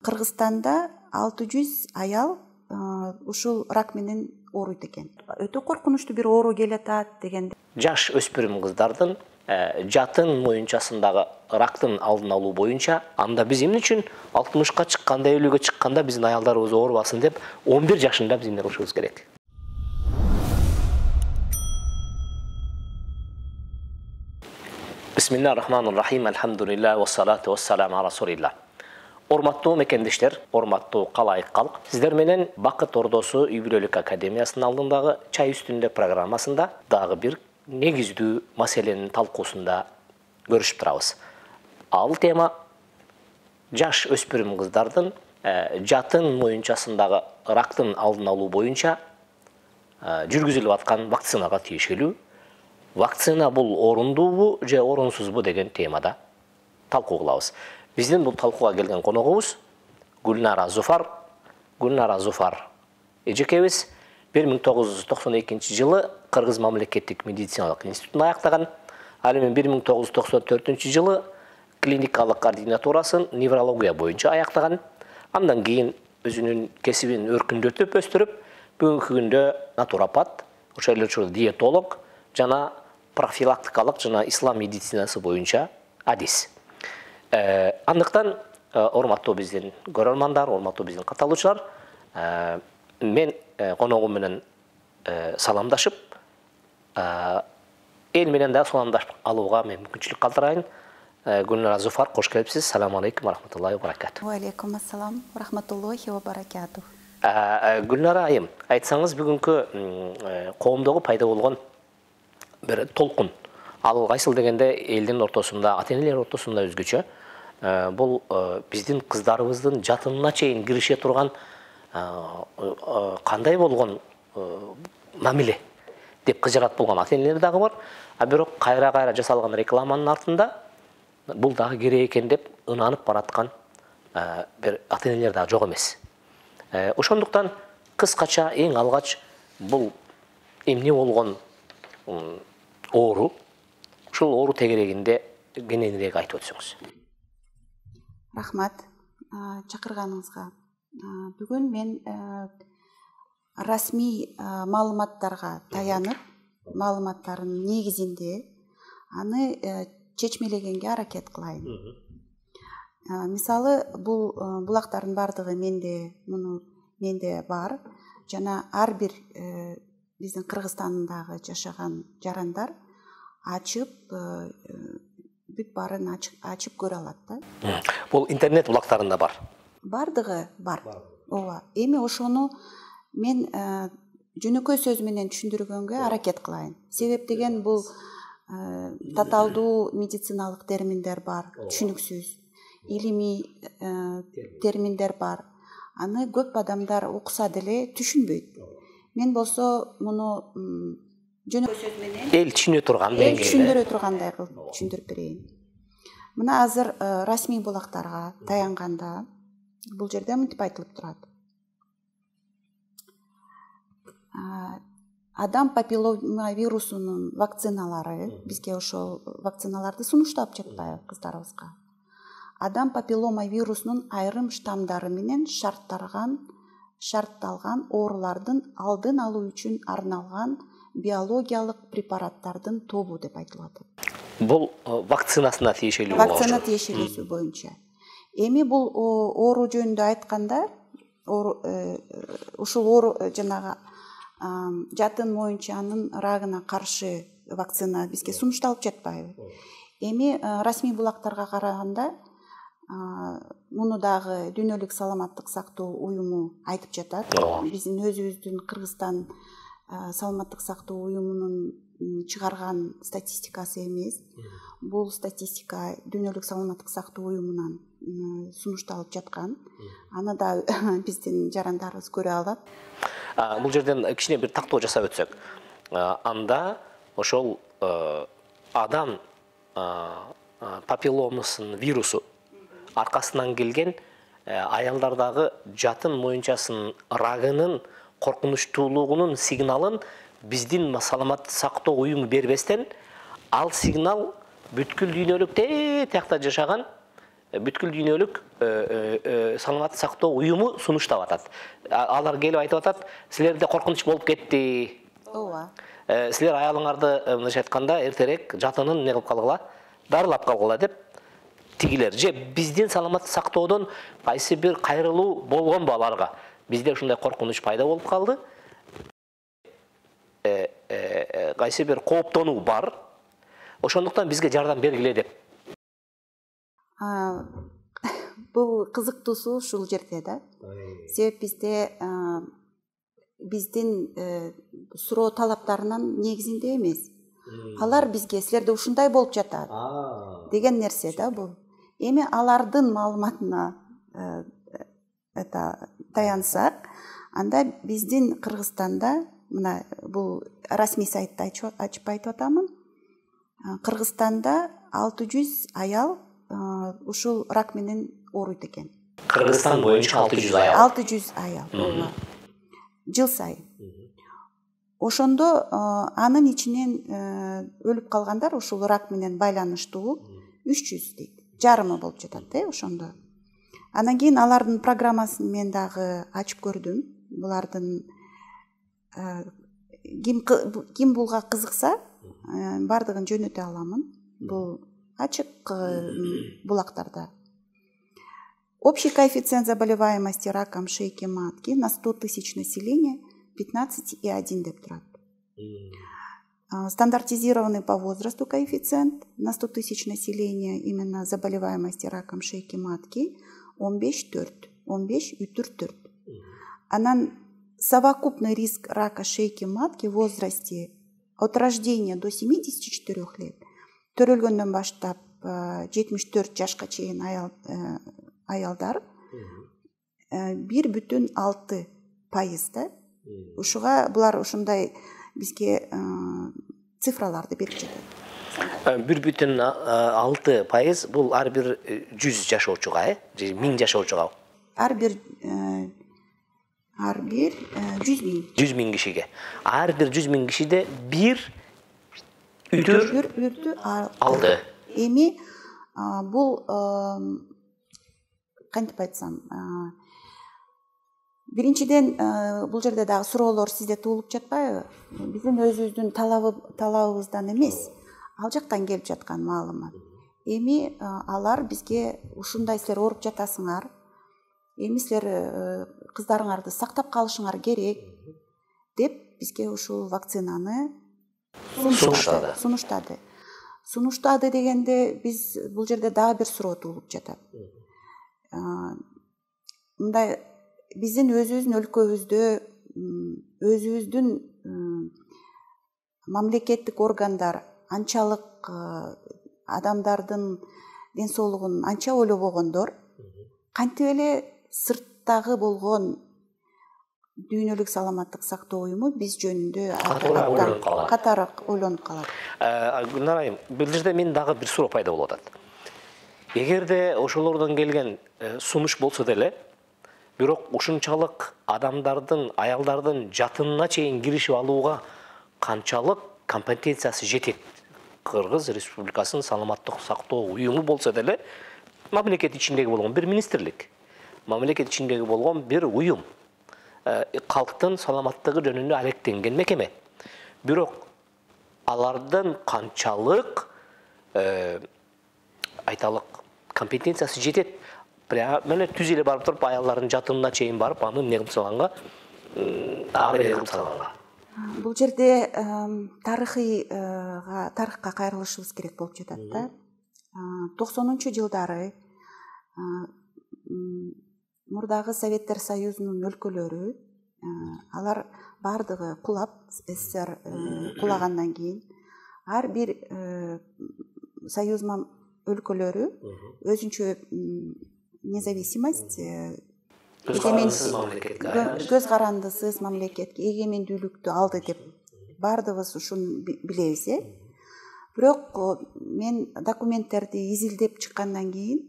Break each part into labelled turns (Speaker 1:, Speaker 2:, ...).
Speaker 1: Кыргызстанда 600 аял ушул рак менен ооруйт экен. Өтө коркунучтуу бир оору келатат деген.
Speaker 2: Жаш өспүрүм кыздардын жатын моюнчасындагы рактын алдын алуу боюнча анда биз эмне үчүн 60ка чыкканда, 50ге чыкканда биздин аялдарыбыз оорубасын деп 11 жашында биз эмне кылышыбыз керек? Бисмиллахир-рахманир-рахим. Алхамдулилlah ва салату ва саламу ала расулилlah. Урматтуу мекендештер, урматтуу калайык калк, сиздер менен Бакыт Ордосу үй бүлөлүк академиясынын алдындагы чай үстүндө программасында дагы бир негиздүү маселенин талкуусунда көрүшүп турабыз. Ал тема жаш өспүрүм кыздардын жатын моюнчасындагы рактын алдын алуу боюнча жүргүзүлүп аткан вакцинага тиешелүү. Вакцина бул орундуубу же орунсузбу деген темада талкуу кылабыз. Биздин бул талкууга келген коногубуз Гүлнара Зуфар. Гүлнара Зуфар эжекебиз 1992 жылы Кыргыз мамлекеттик медициналык институтун аяктаган. Ал эми 1994 жылы клиникалык координатурасын неврология боюнча аяктаган. Андан кийин өзүнүн кесибин өркүндөтүп өстүрүп, бүгүнкү күндө натуропат, ошол эле диетолог жана профилактикалык жана ислам медицинасы боюнча адис. Андыктан урматтуу биздин көрөрмандар, урматтуу биздин катталуучулар, мен коногум менен саламдашып, эл менен да саламдашып алууга мен мүмкүнчүлүк калтырайын. Гүлнара Зуфар, кош келипсиз. Ассаламу алейкум ва рахматуллахи ва баракатух.
Speaker 1: Ва алейкум ассалам ва рахматуллахи ва баракатух.
Speaker 2: Гүлнара айым, айтсаңыз бүгүнкү коомдогу пайда болгон бир толкун. Ал кайсыл дегенде элдин ортосунда, ата-энелер ортосунда өзгөчө. Бул биздин кыздарыбыздын жатынына чейин кирише турган кандай болгон мамиле деп кыжырат болгон ата-энелер дагы бар. А бирок кайра жасалган рекламанын артында бул дагы керек экен деп ынанып бараткан бир ата-энелер дагы жок эмес. Ошондуктан кыскача эң алгач бул эмне болгон оору, ушул оору тегерегинде кененирээк айтып өтсөңүз.
Speaker 1: Рахмат чакырганыңызга. Бүгүн мен расмий маалыматтарга таянып, маалыматтардын негизинде аны чечмелегенге аракет кылайын. Мисалы, булактардын бардыгы менде бар жана ар бир биздин Кыргызстандагы жашаган жарандар ачып, бүт баарын ачып көрө алат да.
Speaker 2: Бул интернет булактарында бар.
Speaker 1: Бардыгы бар. Ооба. Эми ошону мен жөнөкөй сөз менен түшүндүргөнгө аракет кылайын. Себеп деген бул татаалдуу медициналык терминдер бар, түшүнүксүз, илимий терминдер бар. Аны көп адамдар окуса деле түшүнбөйт. Мен болсо муну жөнөкөй сөз менен
Speaker 2: эл түшүнө турган деңгээлде,
Speaker 1: түшүндүрө тургандай кылып түшүндүрүп берейин. Мына азыр расмий булактарга таянганда бул жерде мынтип айтылып турат. Адам папиллома вирусунун вакциналары, бизге ошол вакциналарды сунуштап жатпайбы кыздарыбызга? Адам папиллома вирусунун айрым штамдары менен шартталган оорулардын алдын алуу үчүн арналган биологиялык препараттардын тобу деп айтылып атат.
Speaker 2: Бул вакцинасына тиешелүү.
Speaker 1: Вакцина тиешелүүсү боюнча. Эми бул оору жөнүндө айтканда, ушул оору жанагы жатын моюнчанын рагына каршы вакцина бизге сунушталып жатпайбы? Эми расмий булактарга караганда муну дагы Дүйнөлүк саламаттык сактоо уюму айтып жатат. Биздин өзүбүздүн Кыргызстан саламаттык сактоо уюмунун чыгарган статистикасы эмес. Бул статистика Дүйнөлүк саламаттык сактоо уюмунан сунушталып жаткан. Аны да биздин жарандарыбыз көрө алат.
Speaker 2: Бул жерден кичине бир тактоо жасап өтсөк, анда ошол адам папилломасынын вирусу аркасынан келген аялдардагы жатын моюнчасынын рагынын коркунучтуулугунун сигналын биздин саламаттык сактоо уюму бербестен, ал сигнал бүткүл дүйнөлүк тиякта жашаган бүткүл дүйнөлүк саламаттык сактоо уюму сунуштап атат. Алар келип айтып атат, силерде коркунуч болуп кетти.
Speaker 1: Ооба.
Speaker 2: Силер аялыңарды мындайча айтканда эртерээк жатынын эмне кылып калгыла, дарылап калгыла деп тигилер. Же биздин саламаттык сактоодон кайсы бир кайрылуу болгонбу аларга? Бизде ушундай коркунуч пайда болуп калды. Кайсы бир кооптонуу бар. Ошондуктан бизге жардам бергиле деп.
Speaker 1: Бул кызыктуусу ушул жерде да. Себеп бизде биздин суроо талаптарынын негизинде эмес. Алар бизге силерде ушундай болуп жатат деген нерсе да бул. Эми алардын маалыматына таянсак, анда биздин Кыргызстанда, мына бул расмий сайтты ачып айтып атамын. Кыргызстанда 600 аял ушул рак менен ооруйт экен.
Speaker 2: Кыргызстан боюнча 600 аял.
Speaker 1: 600 аял. Жыл сайын. Ошондо анын ичинен өлүп калгандар ушул рак менен байланыштуу 300 дейт. Жарымы болуп жатат ошондо. Анан кийин алардын программасын мен дагы ачып көрдүм. Булардын ким булга кызыкса, бардыгын жөнөтө аламын. Бул ачык булактарда. Общий коэффициент заболеваемости раком шейки матки на 100 тысяч населения 15,1 деп турат. Стандартизированный по возрасту коэффициент на 100 тысяч населения именно заболеваемости раком шейки матки 15,4. Анан совокупный риск рака шейки матки в возрасте от рождения до 74 лет төрөлгөндөн баштап 74 жашка чейин аялдар 1,6% да. Ушуга булар ушундай бизге цифраларды берип жатат.
Speaker 2: 1,6% бул ар бир 100 жашоочуга, же 1000 жашоочуга?
Speaker 1: Ар бир 100 миң.
Speaker 2: 100 миң кишиге. Ар бир 100 миң кишиде бир үрдү алды.
Speaker 1: Эми бул кантип айтсам, биринчиден бул жерде дагы суроолор сизде туулуп жатпайбы? Биздин өзүбүздүн талабыбыздан эмес, ал жактан келип жаткан маалымат. Эми алар бизге ушундай силер ооруп жатасыңар. Эми силер кыздарыңарды сактап калышыңар керек деп бизге ушул вакцинаны сунуштады. Сунуштады дегенде биз бул жерде дагы бир суроо туулуп жатат. Мындай биздин өзүбүздүн өлкөбүздө өзүбүздүн мамлекеттик органдар анчалык адамдардын ден соолугун анча ойлобогондор, кантип эле сырттагы болгон дүйнөлүк саламаттык сактоо уюму биз жөнүндө катараак ойлонуп калат.
Speaker 2: Гүлнар айым, бул жерде мен дагы бир суроо пайда болуп атат. Эгерде ошолордон келген сунуш болсо деле, бирок ушунчалык адамдардын, аялдардын жатынына чейин киришип алууга канчалык компетенциясы жетет? Кыргыз Республикасынын саламаттык сактоо уюму болсо деле, мамлекет ичиндеги болгон бир министрлик, мамлекет ичиндеги болгон бир уюм, калктын саламаттыгы жөнүндө алектенген мекеме. Бирок алардын канчалык айталык компетенциясы жетет? Мына түз эле барып туруп аялдардын жатынына чейин барып, аны эмне кылып салганга,
Speaker 1: Бул жерде тарыхка кайрылышыбыз керек болуп жатат да. 90-жылдары мурдагы Советтер Союзунун өлкөлөрү, алар бардыгы кулап, СССР кулагандан кийин ар бир союз өлкөлөрү өзүнчө независимость, көз карандысыз мамлекетке эгемендүүлүктү алды деп бардыгыбыз ушуну билебиз. Бирок мен документтерди изилдеп чыккандан кийин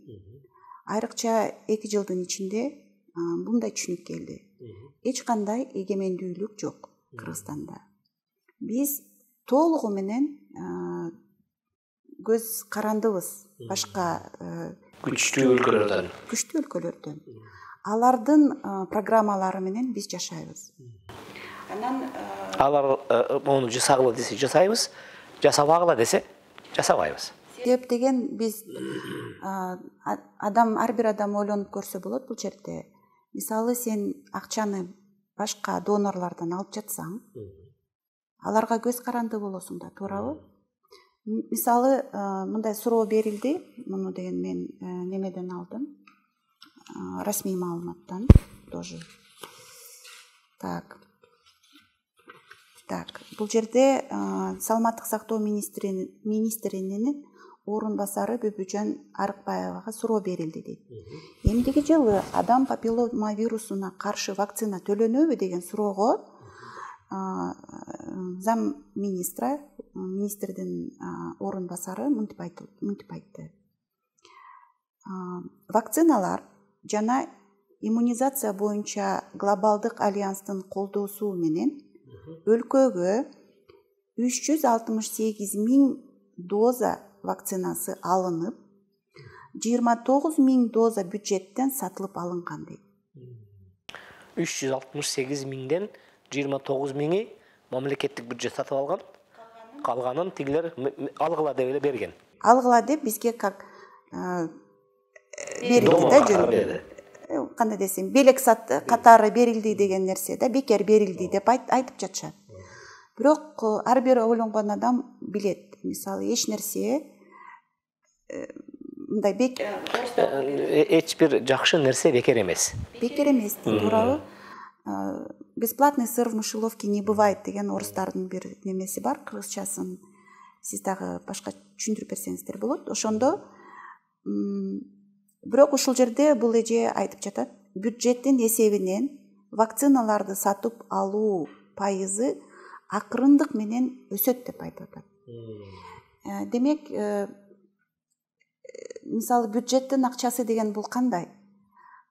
Speaker 1: айрыкча 2 жылдын ичинде мындай түшүнүк келди. Эч кандай эгемендүүлүк жок Кыргызстанда. Биз толугу менен көз карандыбыз башка күчтүү өлкөлөрдөн алардын программалары менен биз жашайбыз. Анан
Speaker 2: алар муну жасагыла десе жасайбыз, жасабагыла десе жасабайбыз.
Speaker 1: Себеп деген биз ар бир адам ойлонуп көрсө болот бул жерде. Мисалы сен акчаны башка донорлордон алып жатсаң, аларга көз каранды болосуң да, туурабы? Мисалы мындай суроо берилди, муну деген мен немеден алдым, расмий маалыматтан тоже. Так, бул жерде саламаттык сактоо министринин орун басары Бүбүжан Арыкбаевага суроо берилди дейт. Эмдиги жылы адам папиллома вирусуна каршы вакцина төлөнөбү деген суроого зам министрдин орун басары мынтип айтты. Вакциналар жана иммунизация боюнча глобалдык альянстын колдоосу менен өлкөгө 368 000 доза вакцинасы алынып, 29 000 доза бюджеттен сатылып алынган дейт.
Speaker 2: 368 000ден 29 000 мамлекеттик бюджет сатып алган, калганын тигилер алгыла деп эле берген.
Speaker 1: Алгыла деп бизге как берилди да жөн. Кандай десем, белек катары берилди деген нерсе да, бекер берилди деп айтып жатышат. Бирок ар бир ойлонгон адам билет. Мисалы, эч нерсе мындай
Speaker 2: эч бир жакшы нерсе бекер эмес.
Speaker 1: Бекер эмес, туурабы? Бесплатный сыр в мышеловке не бывает деген орустардын бир немеси бар, кыргызчасын. Сиз дагы башка түшүндүрүп берсеңиздер болот. Ошондо бирок ушул жерде бул эже айтып жатат, бюджеттин эсебинен вакциналарды сатып алуу пайызы акырындык менен өсөт деп айтып атат. Демек, мисалы бюджеттин акчасы деген бул кандай?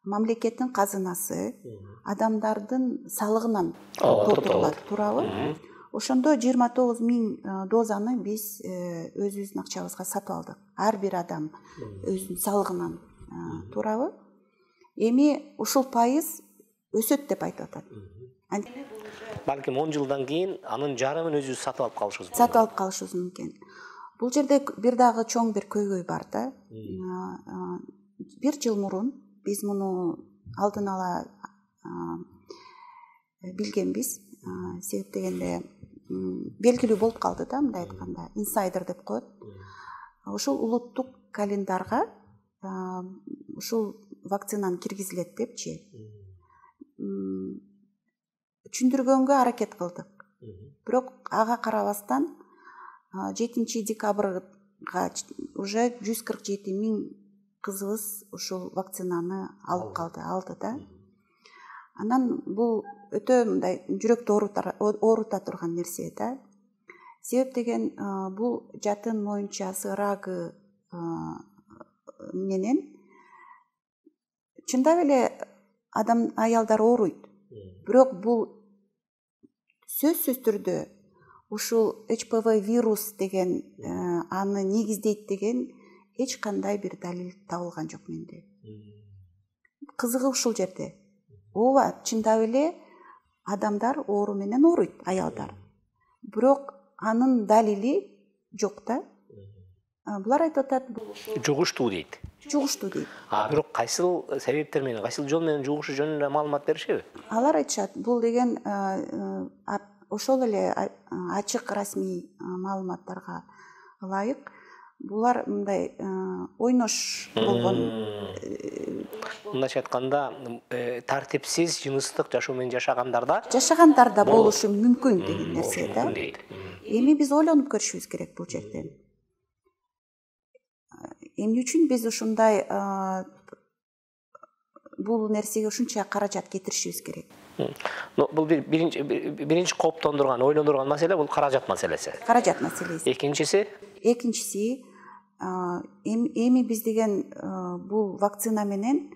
Speaker 1: Мамлекеттин казынасы адамдардын салыгынан толтурулат, туурабы? Ошондо 29 000 дозаны биз өзүбүздүн акчабызга сатып алдык. Ар бир адам өзүнүн салыгынан, туурабы? Эми ушул пайыз өсөт деп айтып атат.
Speaker 2: Балким 10 жылдан кийин анын жарымын өзүбүз сатып алып калышыбыз мүмкүн.
Speaker 1: Сатып алып калышыбыз мүмкүн. Бул жерде бир дагы чоң бир көйгөй бар да. Бир жыл мурун биз муну алдын ала билгенбиз. Себеп дегенде белгилүү болуп калды да, мындай айтканда, инсайдер деп коет. Ушул улуттук календарга ушул вакцинаны киргизилет депчи. Түшүндүргөнгө аракет кылдык. Бирок ага карабастан 7 декабрга уже 147 000 кызыбыз ушул вакцинаны алып алды да. Анан бул өтө мындай жүрөктү оорута турган нерсе да. Себеп деген бул жатын моюнчасы рагы менен чындап эле аялдар ооруйт. Бирок бул сөзсүз түрдө ушул ХПВ вирус деген аны негиздейт деген эч кандай бир далил табылган жок менде. Кызыгы ушул жерде. Ооба, чындап эле адамдар оору менен ооруйт, аялдар. Бирок анын далили жок да. Булар айтып атат,
Speaker 2: жугуштуу дейт.
Speaker 1: Жугуштуу дейт.
Speaker 2: Бирок кайсыл себептер менен, кайсыл жол менен жугушу жөнүндө маалымат беришеби?
Speaker 1: Алар айтышат, бул деген ошол эле ачык расмий маалыматтарга ылайык. Булар мындай ойнош болгон.
Speaker 2: Мындайча айтканда, тартипсиз жыныстык жашоо менен
Speaker 1: жашагандарда болушу мүмкүн деген нерсе да. Эми биз ойлонуп көрүшүбүз керек бул жерден. Эмне үчүн биз ушундай бул нерсеге ушунча каражат кетиришибиз керек?
Speaker 2: Бул биринчи кооптондурган, ойлондурган маселе бул каражат маселеси.
Speaker 1: Каражат маселеси.
Speaker 2: Экинчиси,
Speaker 1: эми биз деген бул вакцина менен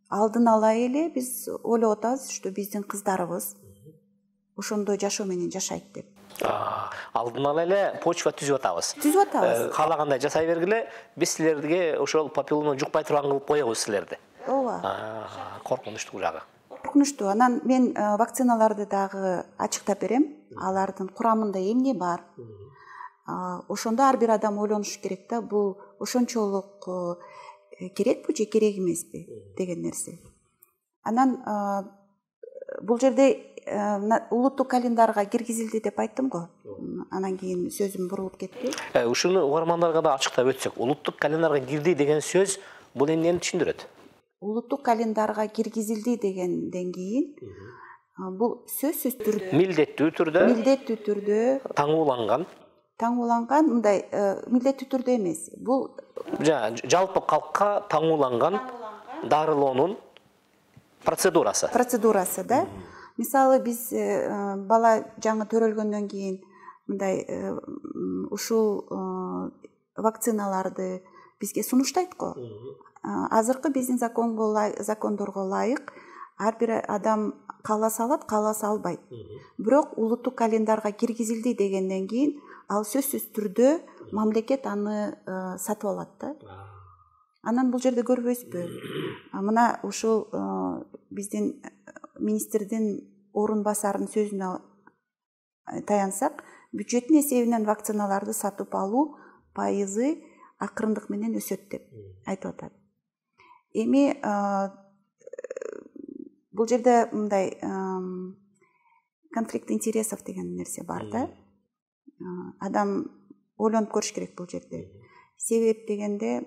Speaker 1: алдын ала эле биз ойлоп атабыз, что биздин кыздарыбыз ошондой жашоо менен жашайт деп.
Speaker 2: Алдын ала эле почва түзүп атабыз.
Speaker 1: Түзүп атабыз.
Speaker 2: Каалагандай жасай бергиле, биз силерге ошол папиллома жукпай турган кылып коебуз силерди.
Speaker 1: Ооба.
Speaker 2: Коркунучтуу жагы.
Speaker 1: Коркунучтуу. Анан мен вакциналарды дагы ачыктап берем. Алардын курамында эмне бар? Ошондо ар бир адам ойлонуш керек да, бул ошончолук керекпи же керек эмеспи деген нерсе. Анан бул жерде улуттук календарга киргизилди деп айттым го. Анан кийин сөзүм бурулуп кетти.
Speaker 2: Ушуну угармандарга да ачыктап өтсөк, улуттук календарга кирди деген сөз бул эмнени түшүндүрөт?
Speaker 1: Улуттук календарга киргизилди дегенден кийин бул сөзсүз түрдө милдеттүү түрдө таңууланган мындай милдеттүү түрдө эмес. Бул
Speaker 2: жалпы калкка таңууланган дарылоонун процедурасы да. Мисалы биз бала жаңы төрөлгөндөн кийин мындай ушул вакциналарды бизге сунуштайт го. Азыркы биздин закондорго ылайык ар бир адам кааласа алат, кааласа албайт. Бирок улуттук календарга киргизилди дегенден кийин ал сөзсүз түрдө мамлекет аны сатып алат да. Анан бул жерде көрбөйсүзбү? Мына ушул биздин министрдин орун басарынын сөзүнө таянсак, бюджеттин эсебинен вакциналарды сатып алуу пайызы акырындык менен өсөт деп айтып атат. Эми бул жерде мындай конфликт интересов деген нерсе бар да. Адам ойлонуп көрүш керек бул жерде. Себеп дегенде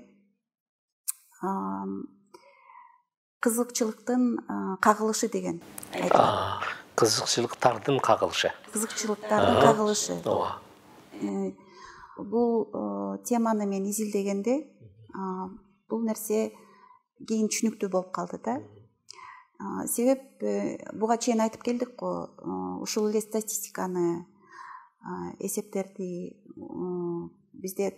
Speaker 2: кызыкчылыктын кагылышы деген айтылат. Кызыкчылыктардын кагылышы.
Speaker 1: Ооба. Бул теманы мен изилдегенде бул нерсе кийин түшүнүктүү болуп калды да. Себеп буга чейин айтып келдик го, ушул эле статистиканы, эсептерди бизде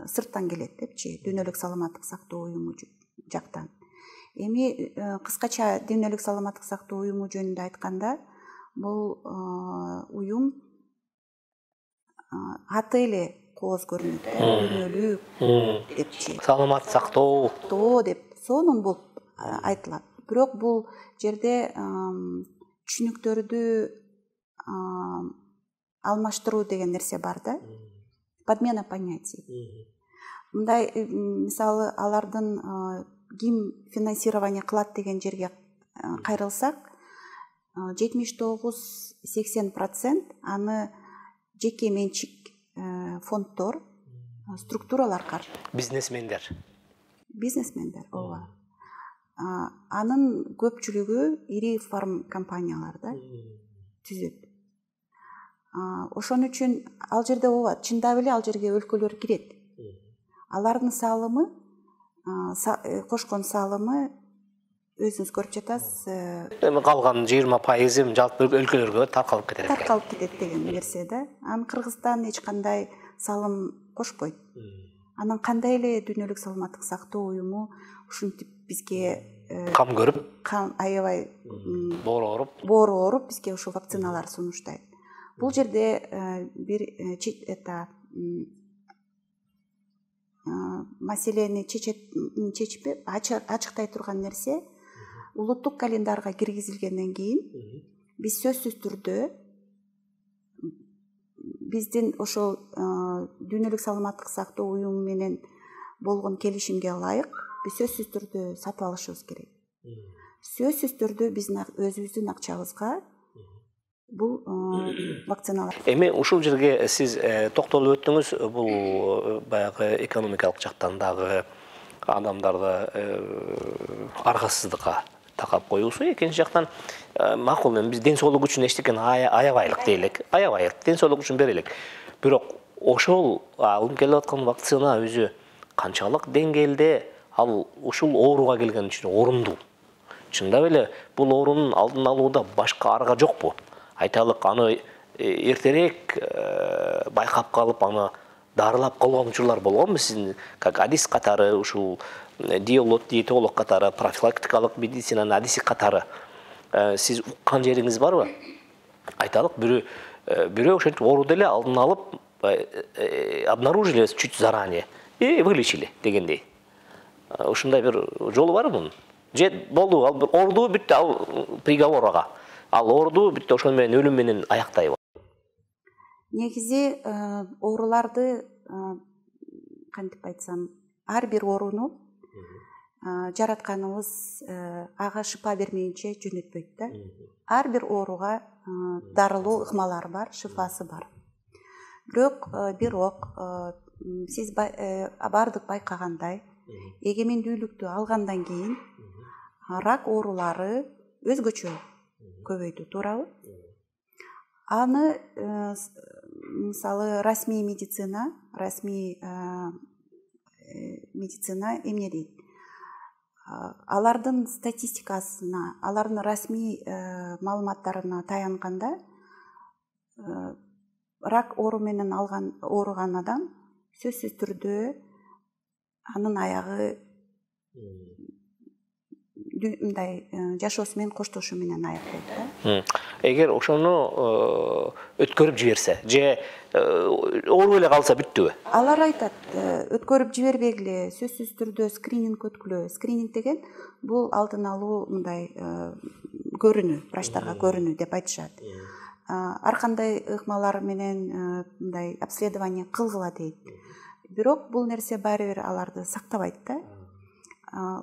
Speaker 1: сырттан келет депчи, Дүйнөлүк саламаттык сактоо уюму жактан. Эми кыскача Дүйнөлүк саламаттык сактоо уюму жөнүндө айтканда, бул уюм аты эле кооз көрүнөт, дүйнөлүк депчи.
Speaker 2: Саламат сактоо
Speaker 1: деп сонун болуп айтылат. Бирок бул жерде түшүнүктөрдү алмаштыруу деген нерсе бар да. Подмена понятий. Мындай мисалы алардын ким финансирование кылат деген жерге кайрылсак, 79-80% аны жеке менчик фонддор, структуралар каржылайт.
Speaker 2: Бизнесмендер,
Speaker 1: ооба. Анын көпчүлүгү ири фарм компаниялар да түзөт. Ошон үчүн ал жерде ооба, чындап эле ал жерге өлкөлөр кирет. Алардын салымы, кошкон салымы өзүңүз көрүп жатасыз.
Speaker 2: Эми калган 20% жалпы өлкөлөргө таркалып
Speaker 1: кетет деген нерсе да. Анан Кыргызстан эч кандай салым кошпойт. Анан кандай эле Дүйнөлүк саламаттык сактоо уюму ушинтип бизге
Speaker 2: кам көрүп,
Speaker 1: аябай
Speaker 2: боору
Speaker 1: ооруп бизге ушул вакциналар сунуштайт. Бул жерде бир маселени чечип ачыктай турган нерсе, улуттук календарга киргизилгенден кийин биз сөзсүз түрдө биздин ошол Дүйнөлүк саламаттык сактоо уюму менен болгон келишимге ылайык биз сөзсүз түрдө сатып алышыбыз керек. Сөзсүз түрдө биздин өзүбүздүн акчабызга бул вакциналар.
Speaker 2: Эми ушул жерге сиз токтолуп өттүңүз, бул баягы экономикалык жактан дагы адамдарды аргасыздыкка такап коюусу, экинчи жактан макул эми биз ден соолук үчүн эчтекени аябайлык дейлик, ден соолук үчүн берелик. Бирок ошол алынып келип аткан вакцина өзү канчалык деңгээлде ал ушул ооруга келген үчүн орундуу? Чындап эле бул оорунун алдын алууда башка арга жокпу? Айталык, аны эртерээк байкап калып, аны дарылап калган учурлар болгонбу сиздин как адис катары, ушул диетолог катары, профилактикалык медицинанын адиси катары сиз уккан жериңиз барбы? Айталык, бир бирөө ошентип ооруду эле алдын алып обнаружили чуть заранее и вылечили дегендей. Ушундай бир жолу барбы мунун? Же болду, ал ооруду бүттү, ал приговор ага. Ал ооруду бүттү, ошол менен өлүм менен аяктайбы?
Speaker 1: Негизи ооруларды кантип айтсам, ар бир ооруну жаратканыбыз ага шыпа бермейинче жөнөтпөйт да. Ар бир ооруга дарылуу ыкмалары бар, шыфасы бар. Бирок сиз бардык байкагандай, эгемендүүлүктү алгандан кийин рак оорулары өзгөчө көбөйдү, туурабы? Аны мисалы расмий медицина эмне дейт? Алардын статистикасына, алардын расмий маалыматтарына таянганда, рак оору менен ооруган адам сөзсүз түрдө анын аягы мындай жашоосу менен коштошуу менен аяктайт да.
Speaker 2: Эгер ошону өткөрүп жиберсе же ооруп эле калса бүттүбү?
Speaker 1: Алар айтат, өткөрүп жибербегиле, сөзсүз түрдө скрининг өткүлө. Скрининг деген бул алдын алуу мындай көрүнүү, врачтарга көрүнүү деп айтышат. Ар кандай ыкмалар менен мындай обследование кылгыла дейт. Бирок бул нерсе баары бир аларды сактабайт да.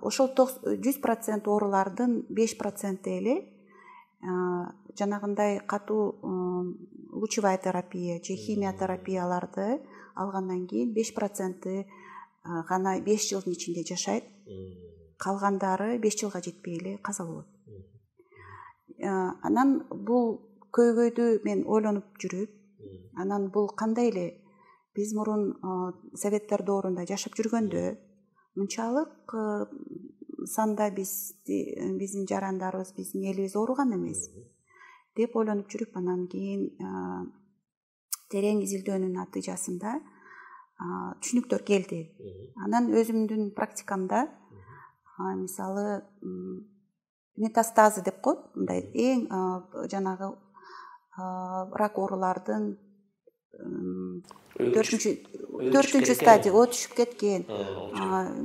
Speaker 1: Ошол 100% оорулардын 5% эле жанагындай катуу лучевая терапия же химиотерапияларды алгандан кийин 5% гана 5 жылдын ичинде жашайт. Калгандары 5 жылга жетпей эле каза болот. Анан бул көйгөйдү мен ойлонуп жүрүп, анан бул кандай эле биз мурун советтер доорунда жашап жүргөндө мынчалык санда биздин жарандарыбыз, биздин элибиз ооруган эмес деп ойлонуп жүрүп, анан кийин терең изилдөөнүн натыйжасында түшүнүктөр келди. Анан өзүмдүн практикамда мисалы метастазы деп коет, мындай эң жанагы рак оорулардын 4-чү стадия өтүшүп кеткен.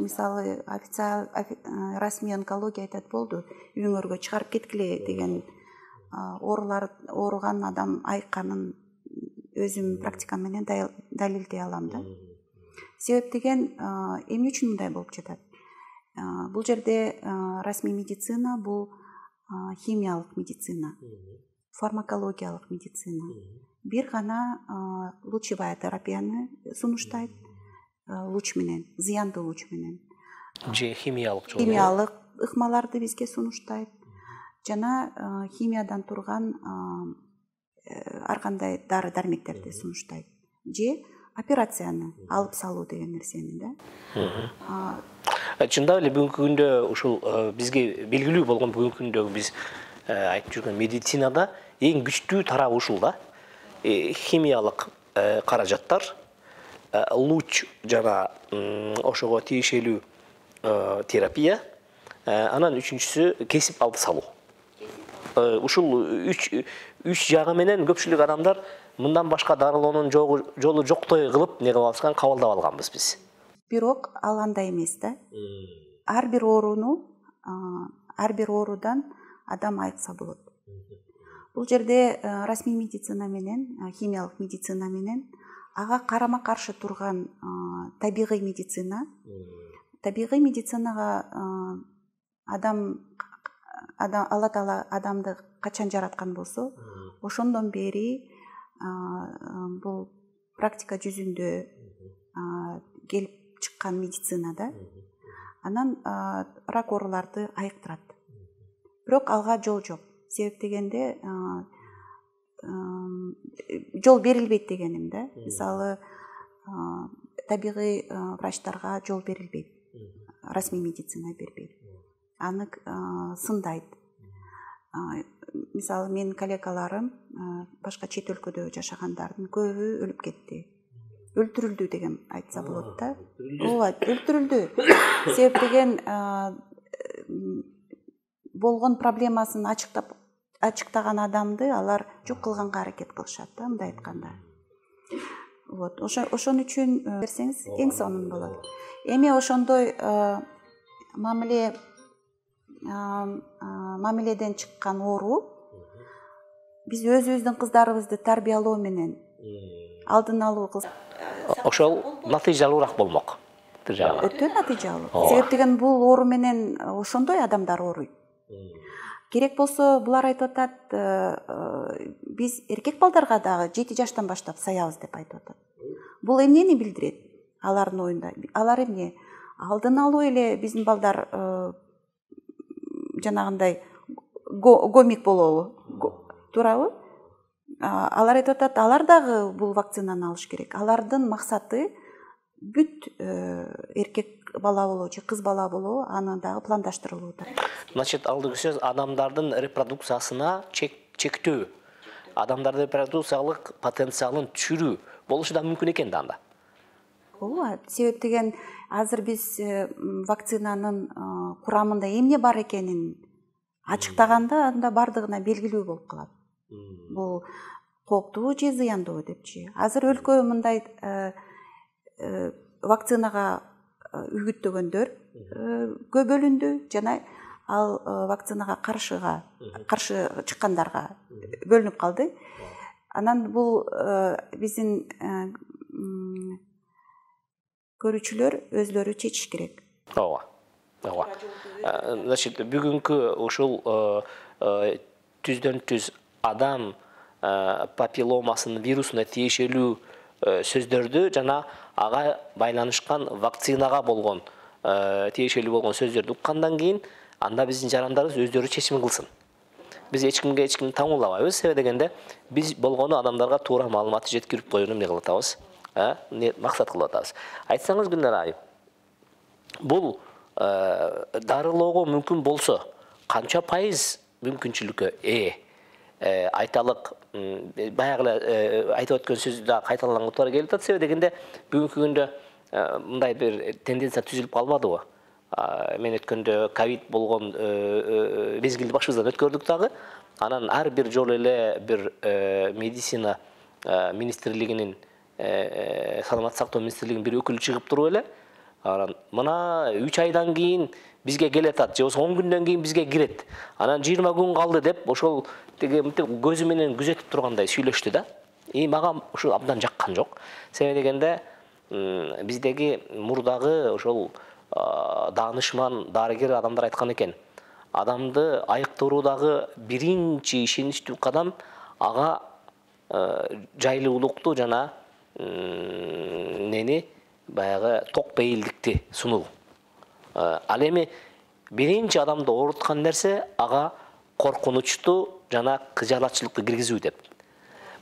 Speaker 1: Мисалы официал расмий онкология айтат, болду, үйүңөргө чыгарып кеткиле деген ооруган адам айыкканын өзүм практикам менен далилдей алам да. Себеп деген эмне үчүн мындай болуп жатат? Бул жерде расмий медицина бул химиялык медицина, фармакологиялык медицина. Бир гана лучевая терапияны сунуштайт, луч менен, зыяндуу луч менен.
Speaker 2: Же химиялык жолу.
Speaker 1: Химиялык ыкмаларды бизге сунуштайт. Жана химиядан турган ар кандай дары дармектерди сунуштайт. Же операцияны алып салуу деген нерсени да.
Speaker 2: Чындап эле бүгүнкү күндө ушул бизге белгилүү болгон бүгүнкү күндөгү биз айтып жүргөн медицинада эң күчтүү тарабы ушул да. Химиялык каражаттар, луч жана ошого тиешелүү терапия, анан үчүнчүсү кесип алып салуу. Ушул үч жагы менен көпчүлүк адамдар мындан башка дарылоонун жолу жоктой кылып не кылып алышкан, кабылдап алганбыз биз.
Speaker 1: Бирок ал андай эмес да. Ар бир оорудан адам айыкса болот. Бул жерде расмий медицина менен, химиялык медицина менен ага карама каршы турган табигый медицина. Табигый медицинага Алла Таала адамды качан жараткан болсо, ошондон бери бул практика жүзүндө келип чыккан медицина да. Анан рак ооруларды айыктырат. Бирок алга жол жок. Себеп дегенде жол берилбейт дегеним да. Мисалы табигый врачтарга жол берилбейт. Расмий медицина бербейт. Аны сындайт. Мисалы менин коллегаларым башка чет өлкөдө жашагандардын көбү өлүп кетти. Өлтүрүлдү деген айтса болот да. Ооба, өлтүрүлдү. Себеп деген болгон проблемасын ачыктаган адамды алар жок кылганга аракет кылышат да, мындай айтканда. Вот, ошон үчүн берсеңиз эң сонун болот. Эми ошондой мамиледен чыккан оору биз өзүбүздүн кыздарыбызды тарбиялоо менен алдын алуу кылсак,
Speaker 2: ошол натыйжалуураак болмок.
Speaker 1: Өтө натыйжалуу. Себеп деген бул оору менен ошондой адамдар ооруйт. Керек болсо булар айтып атат, биз эркек балдарга дагы 7 жаштан баштап саябыз деп айтып атат. Бул эмнени билдирет? Алардын оюнда. Алар эмне? Алдын алуу эле биздин балдар жанагындай гомик болобу? Туурабы? Алар айтып атат, алар дагы бул вакцинаны алыш керек. Алардын максаты бүт эркек бала болобу же кыз бала болобу аны дагы пландаштырылууда.
Speaker 2: Значит, алдыгы сөз адамдардын репродукциясына чектөө, адамдардын репродукциялык потенциалын түшүрүү болушу да мүмкүн экен да анда.
Speaker 1: Ооба, себеп деген азыр биз вакцинанын курамында эмне бар экенин ачыктаганда анда бардыгына белгилүү болуп калат. Бул кооптуу же зыяндуу депчи. Азыр өлкө мындай вакцинага үгүттөгөндөр көп бөлүндү жана ал вакцинага каршы чыккандарга бөлүнүп калды. Анан бул биздин көрүүчүлөр өзлөрү чечиш керек.
Speaker 2: Ооба. Значит, бүгүнкү ушул түздөн түз адам папилломасынын вирусуна тиешелүү сөздөрдү жана ага байланышкан вакцинага болгон тиешелүү болгон сөздөрдү уккандан кийин анда биздин жарандарыбыз өздөрү чечим кылсын. Биз эч кимди таңуулабайбыз, себеп дегенде биз болгону адамдарга туура маалыматты жеткирип коюуну эмне кылып атабыз, максат кылып атабыз. Айтсаңыз Гүлнара айым, бул дарылоого мүмкүн болсо канча пайыз мүмкүнчүлүккө ээ? Айталык баягы эле айтып өткөн сөздү да кайталанган туура келип атат, себеп дегенде бүгүнкү күндө мындай бир тенденция түзүлүп калбадыбы? Мен өткөндө ковид болгон мезгилди башыбыздан өткөрдүк дагы. Анан ар бир жолу эле бир медицина министрлигинин, саламаттык сактоо министрлигинин бир өкүлү чыгып туруп эле, анан мына 3 айдан кийин бизге келет атат, же болбосо 10 күндөн кийин бизге кирет. Анан 20 күн калды деп ошол мынтип көзү менен күзөтүп тургандай сүйлөштү да. Мага ушул абдан жаккан жок. Себеп дегенде биздеги мурдагы ошол даанышман дарыгер адамдар айткан экен. Адамды айыктыруудагы биринчи ишеничтүү кадам ага жайлуулукту жана баягы ток бейилдикти сунуу. Ал эми биринчи адамды ооруткан нерсе ага коркунучту жана кыжалатчылыкты киргизүү деп.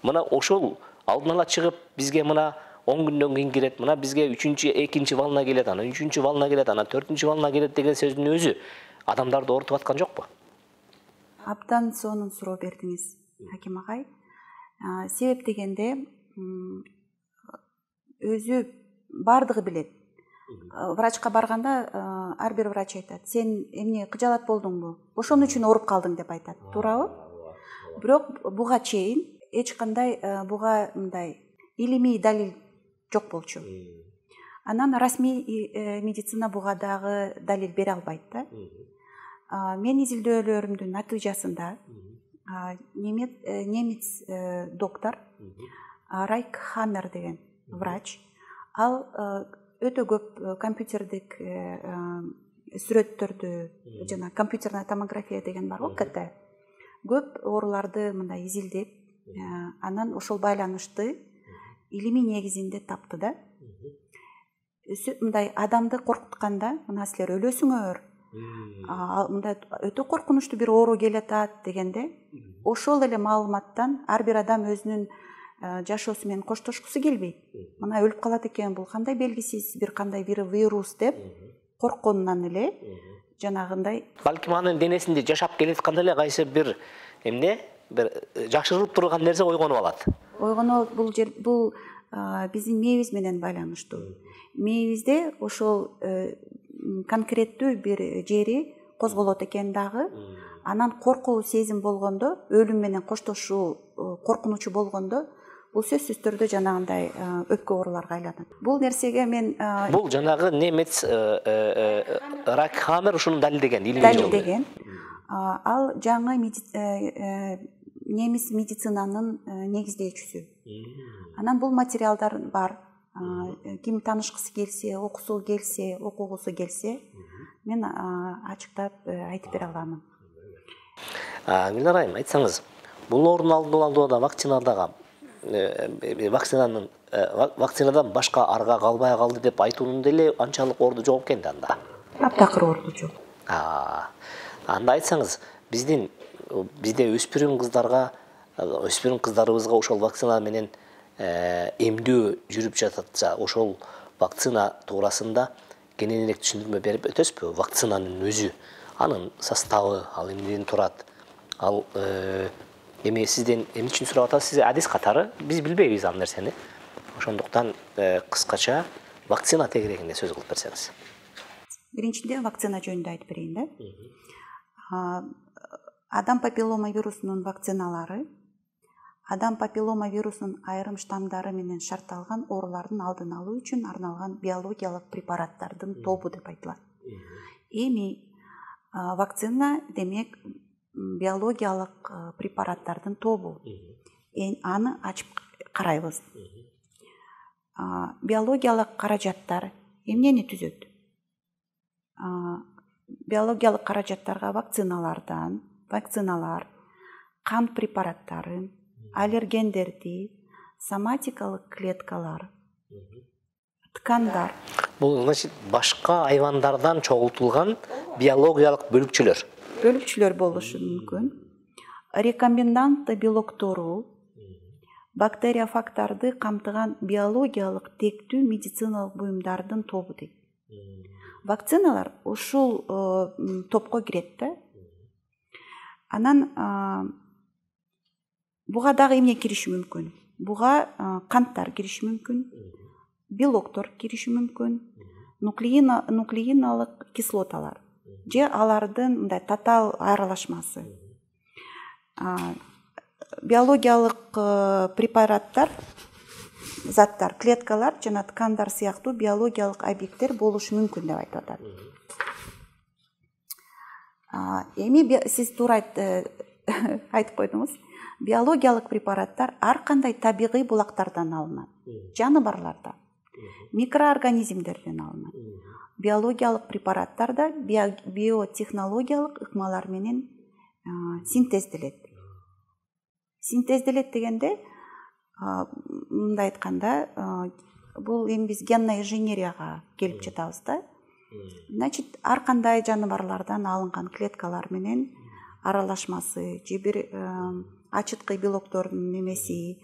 Speaker 2: Мына ошол алдын ала чыгып бизге мына 10 күндөн кийин кирет, мына бизге 2-чи волна келет, анан 3-чү волна келет, анан 4-чү волна келет деген сөздүн өзү адамдарды оорутуп аткан жокпу?
Speaker 1: Абдан сонун суроо бердиңиз, Хаким агай. Себеп дегенде өзү бардыгы билет. Врачка барганда ар бир врач айтат: "Сен эмне кыжалат болдуңбу? Ошон үчүн ооруп калдың" деп айтат. Туурабы? Бирок буга чейин эч кандай буга мындай илимий далил жок болчу. Анан расмий медицина буга дагы далил бере албайт да. Мен изилдөөлөрүмдүн натыйжасында немец доктор Райк Хаммер деген врач, ал өтө көп компьютердик сүрөттөрдү жана компьютерная томография деген бар го, КТ. Көп ооруларды мындай изилдеп, анан ошол байланышты илимий негизинде тапты да. Мындай адамды коркутканда, мына силер өлөсүңөр, мындай өтө коркунучтуу бир оору келатат дегенде, ошол эле маалыматтан ар бир адам өзүнүн жашоосу менен коштошкусу келбейт. Мына өлүп калат экен, бул кандай белгисиз бир кандай вирус деп коркконунан эле жанагындай.
Speaker 2: Балким анын денесинде жашап келатканда эле кайсы бир бир жашырылып турган нерсе ойгонуп алат.
Speaker 1: Бул биздин мээбиз менен байланыштуу. Мээбизде ошол конкреттүү бир жери козголот экен дагы. Анан коркуу сезим болгондо, өлүм менен коштошуу коркунучу болгондо, бул сөзсүз түрдө жанагындай өпкө ооруларга айланат. Бул нерсеге мен
Speaker 2: бул жанагы немец Ракхамер ушуну далилдеген,
Speaker 1: далилдеген. Ал жаңы немис медицинанын негиздөөчүсү. Анан бул материалдар бар. Ким таанышкысы келсе, окугусу келсе, мен ачыктап айтып бере аламын.
Speaker 2: Гүлнар айым, айтсаңыз, бул орун алууда вакцинадан башка арга калбай калды деп айтуунун деле анчалык орду жок экен да анда.
Speaker 1: Таптакыр орду жок.
Speaker 2: Анда айтсаңыз, бизде өспүрүм кыздарыбызга ошол вакцина менен эмдөө жүрүп жататса, ошол вакцина туурасында кененирээк түшүндүрмө берип өтөсүзбү? Вакцинанын өзү, анын составы, ал эмнеден турат? Ал эми сизден эмне үчүн сурап атабыз? Сиз адис катары биз билбейбиз ал нерсени. Ошондуктан кыскача вакцина тегерегинде сөз кылып берсеңиз.
Speaker 1: Биринчиден вакцина жөнүндө айтып берейин да. Адам папиллома вирусунун вакциналары адам папиллома вирусунун айрым штамдары менен шартталган оорулардын алдын алуу үчүн арналган биологиялык препараттардын тобу деп айтылат. Эми вакцина демек биологиялык препараттардын тобу. Аны ачып карайбыз. Биологиялык каражаттар эмнени түзөт? Биологиялык каражаттарга вакциналар, кан препараттары, аллергендерди, соматикалык клеткалар, ткандар.
Speaker 2: Бул значит башка айвандардан чогултулган биологиялык бөлүкчөлөр болушу мүмкүн. Рекомбинантты белоктору, бактериофагтарды камтыган биологиялык тектүү медициналык буюмдардын тобу дейт. Вакциналар ушул топко кирет да. Анан буга дагы эмне кириши мүмкүн? Буга канттар кириши мүмкүн, белоктор кириши мүмкүн, нуклеиналык кислоталар же алардын мындай татаал аралашмасы. Биологиялык препараттар, заттар, клеткалар жана ткандар сыяктуу биологиялык объекттер болушу мүмкүн деп айтып атат. Эми сиз туура айтып койдуңуз. Биологиялык препараттар ар кандай табигый булактардан алынат. Жаныбарлардан, микроорганизмдерден алынат. Биологиялык препараттар да биотехнологиялык ыкмалар менен синтезделет. Синтезделет дегенде, мындай айтканда, бул эми биз генный инженерияга келип жатабыз да. Значит, ар кандай жаныбарлардан алынган клеткалар менен аралашмасы же бир ачыткы белоктордун немеси,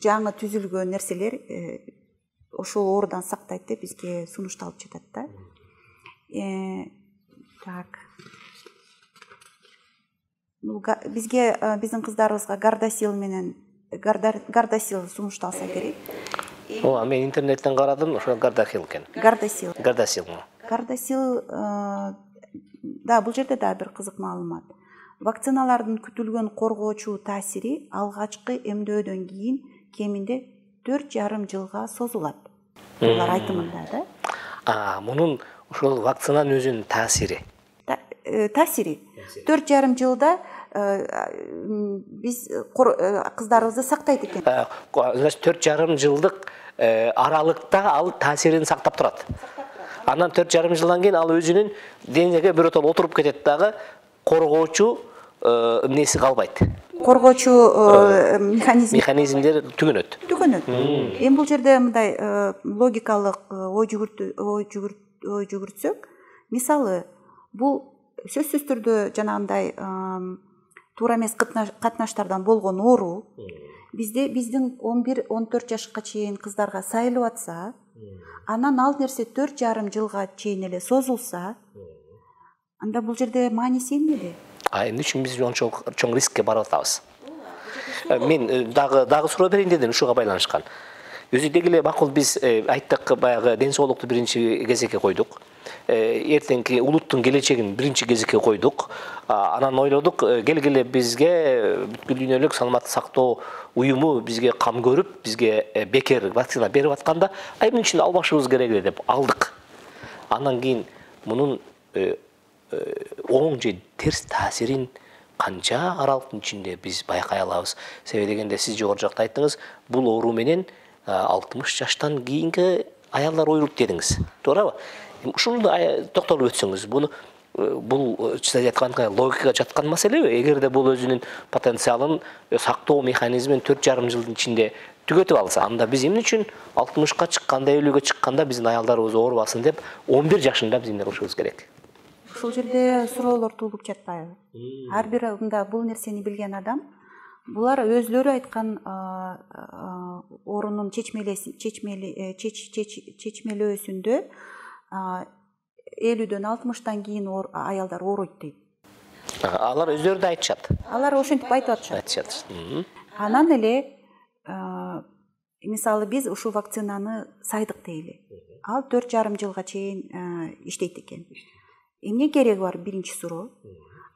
Speaker 2: жаңы түзүлгөн нерселер ошол оорудан сактайт деп бизге сунушталып жатат да. Так. Бизге биздин кыздарыбызга гардасил сунушталса керек. Мен интернеттен карадым, ошо гардасил экен. Гардасил.
Speaker 1: Да, бул жерде да бир кызык маалымат. Вакциналардын күтүлгөн коргоочу таасири алгачкы эмдөөдөн кийин кеминде 4,5 жылга созулат. Булар айтымында да.
Speaker 2: Мунун ошол вакцинанын өзүнүн таасири.
Speaker 1: Таасири 4,5 жылда биз кыздарыбызды сактайт экен.
Speaker 2: Значит, 4,5 жылдык аралыкта ал таасирин сактап турат. Анан 4,5 жылдан кийин ал өзүнүн денеге биротоло отуруп кетет дагы, коргоочу эмнеси калбайт.
Speaker 1: Коргоочу
Speaker 2: механизмдер түгөнөт.
Speaker 1: Эми бул жерде мындай логикалык ой жүгүртсөк, мисалы, бул сөзсүз түрдө жанагындай туура эмес катнаштардан болгон оору биздин 11-14 жашка чейин кыздарга сайылып атса, анан ал нерсе 4,5 жылга чейин эле созулса, анда бул жерде мааниси эмнеде?
Speaker 2: Эмне үчүн биз чоң рискке барып атабыз? Мен дагы суроо берейин дедим, ушуга байланышкан. Өзү деги эле макул биз айттык, баягы ден соолукту биринчи кезекке койдук. эртеңки улуттун келечегин биринчи кезекке койдук. Анан ойлодук, келгиле бизге бүткүл дүйнөлүк саламаттык сактоо уюму бизге кам көрүп, бизге бекер вакцина берип атканда, эмне үчүн албашыбыз керек эле деп алдык. Андан кийин мунун оң же терс таасирин канча аралыктын ичинде биз байкай алабыз. Себеби дегенде сиз жогору жакта айттыңыз, бул оору менен 60 жаштан кийинки аялдар ооруйт дедиңиз. Туурабы? Ушуну токтолуп өтсөңүз, бул чындап айтканда логикага жаткан маселеби? Эгерде бул өзүнүн потенциалын сактоо механизмин 4,5 жылдын ичинде түгөтүп алса, анда биз эмне үчүн 60ка чыкканда, 50ге чыкканда биздин аялдарыбыз оорубасын деп 11 жашында биз эмне кылышыбыз керек?
Speaker 1: Ушул жерде суроолор туулуп жатпайбы? Ар бир бул нерсени билген адам, булар өзлөрү айткан оорунун чечмелөөсүндө 50дөн 60тан кийин аялдар ооруйт дейт.
Speaker 2: Алар өздөрү да айтышат.
Speaker 1: Алар ошентип айтып атышат. Анан эле мисалы биз ушул вакцинаны сайдык дейли. Ал 4,5 жылга чейин иштейт экен. Эмне кереги бар? Биринчи суроо.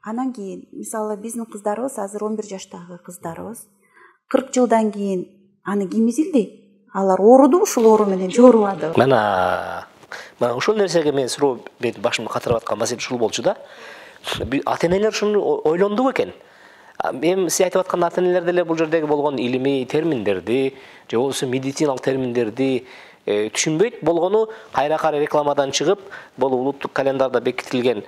Speaker 1: Анан кийин мисалы биздин кыздарыбыз азыр 11 жаштагы кыздарыбыз 40 жылдан кийин аны ким изилди? Алар ооруду, ушул оору менен же оорубады?
Speaker 2: Мына ушул нерсеге мен суроо берип башымды катырып аткан маселе ушул болчу да. Ата-энелер ушуну ойлондубу экен? Мен сиз айтып аткан ата-энелер деле бул жердеги болгон илимий терминдерди, же болбосо медициналык терминдерди түшүнбөйт болгону кайра рекламадан чыгып, бул улуттук календарда бекитилген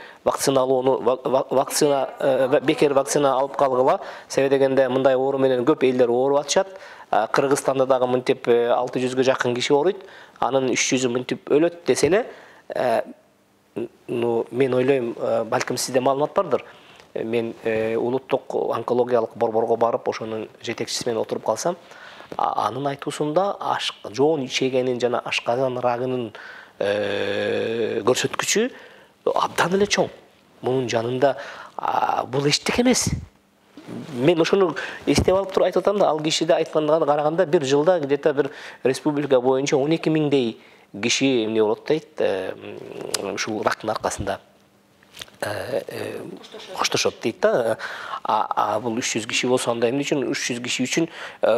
Speaker 2: бекер вакцина алып калгыла. Себеби дегенде мындай оору менен көп элдер ооруп атышат. Кыргызстанда дагы мынтип 600ге жакын киши ооруйт, анын 300-ü мынтип өлөт десе эле, мен ойлойм, балким сизде маалымат бардыр. Мен улуттук онкологиялык борборго барып, ошонун жетекчиси менен отуруп калсам, анын айтуусунда жоон ичегенин жана ашказан рагынын көрсөткүчү абдан эле чоң. Мунун жанында бул эчтеке эмес. Мен ошону эстеп алып туруп айтып атам да, ал кишиде айтканга караганда бир жылда где-то бир республика боюнча 12 миңдей киши эмне болот дейт, ушул рактын аркасында коштошот дейт да. Бул 300 киши болсо, анда эмне үчүн 300 киши үчүн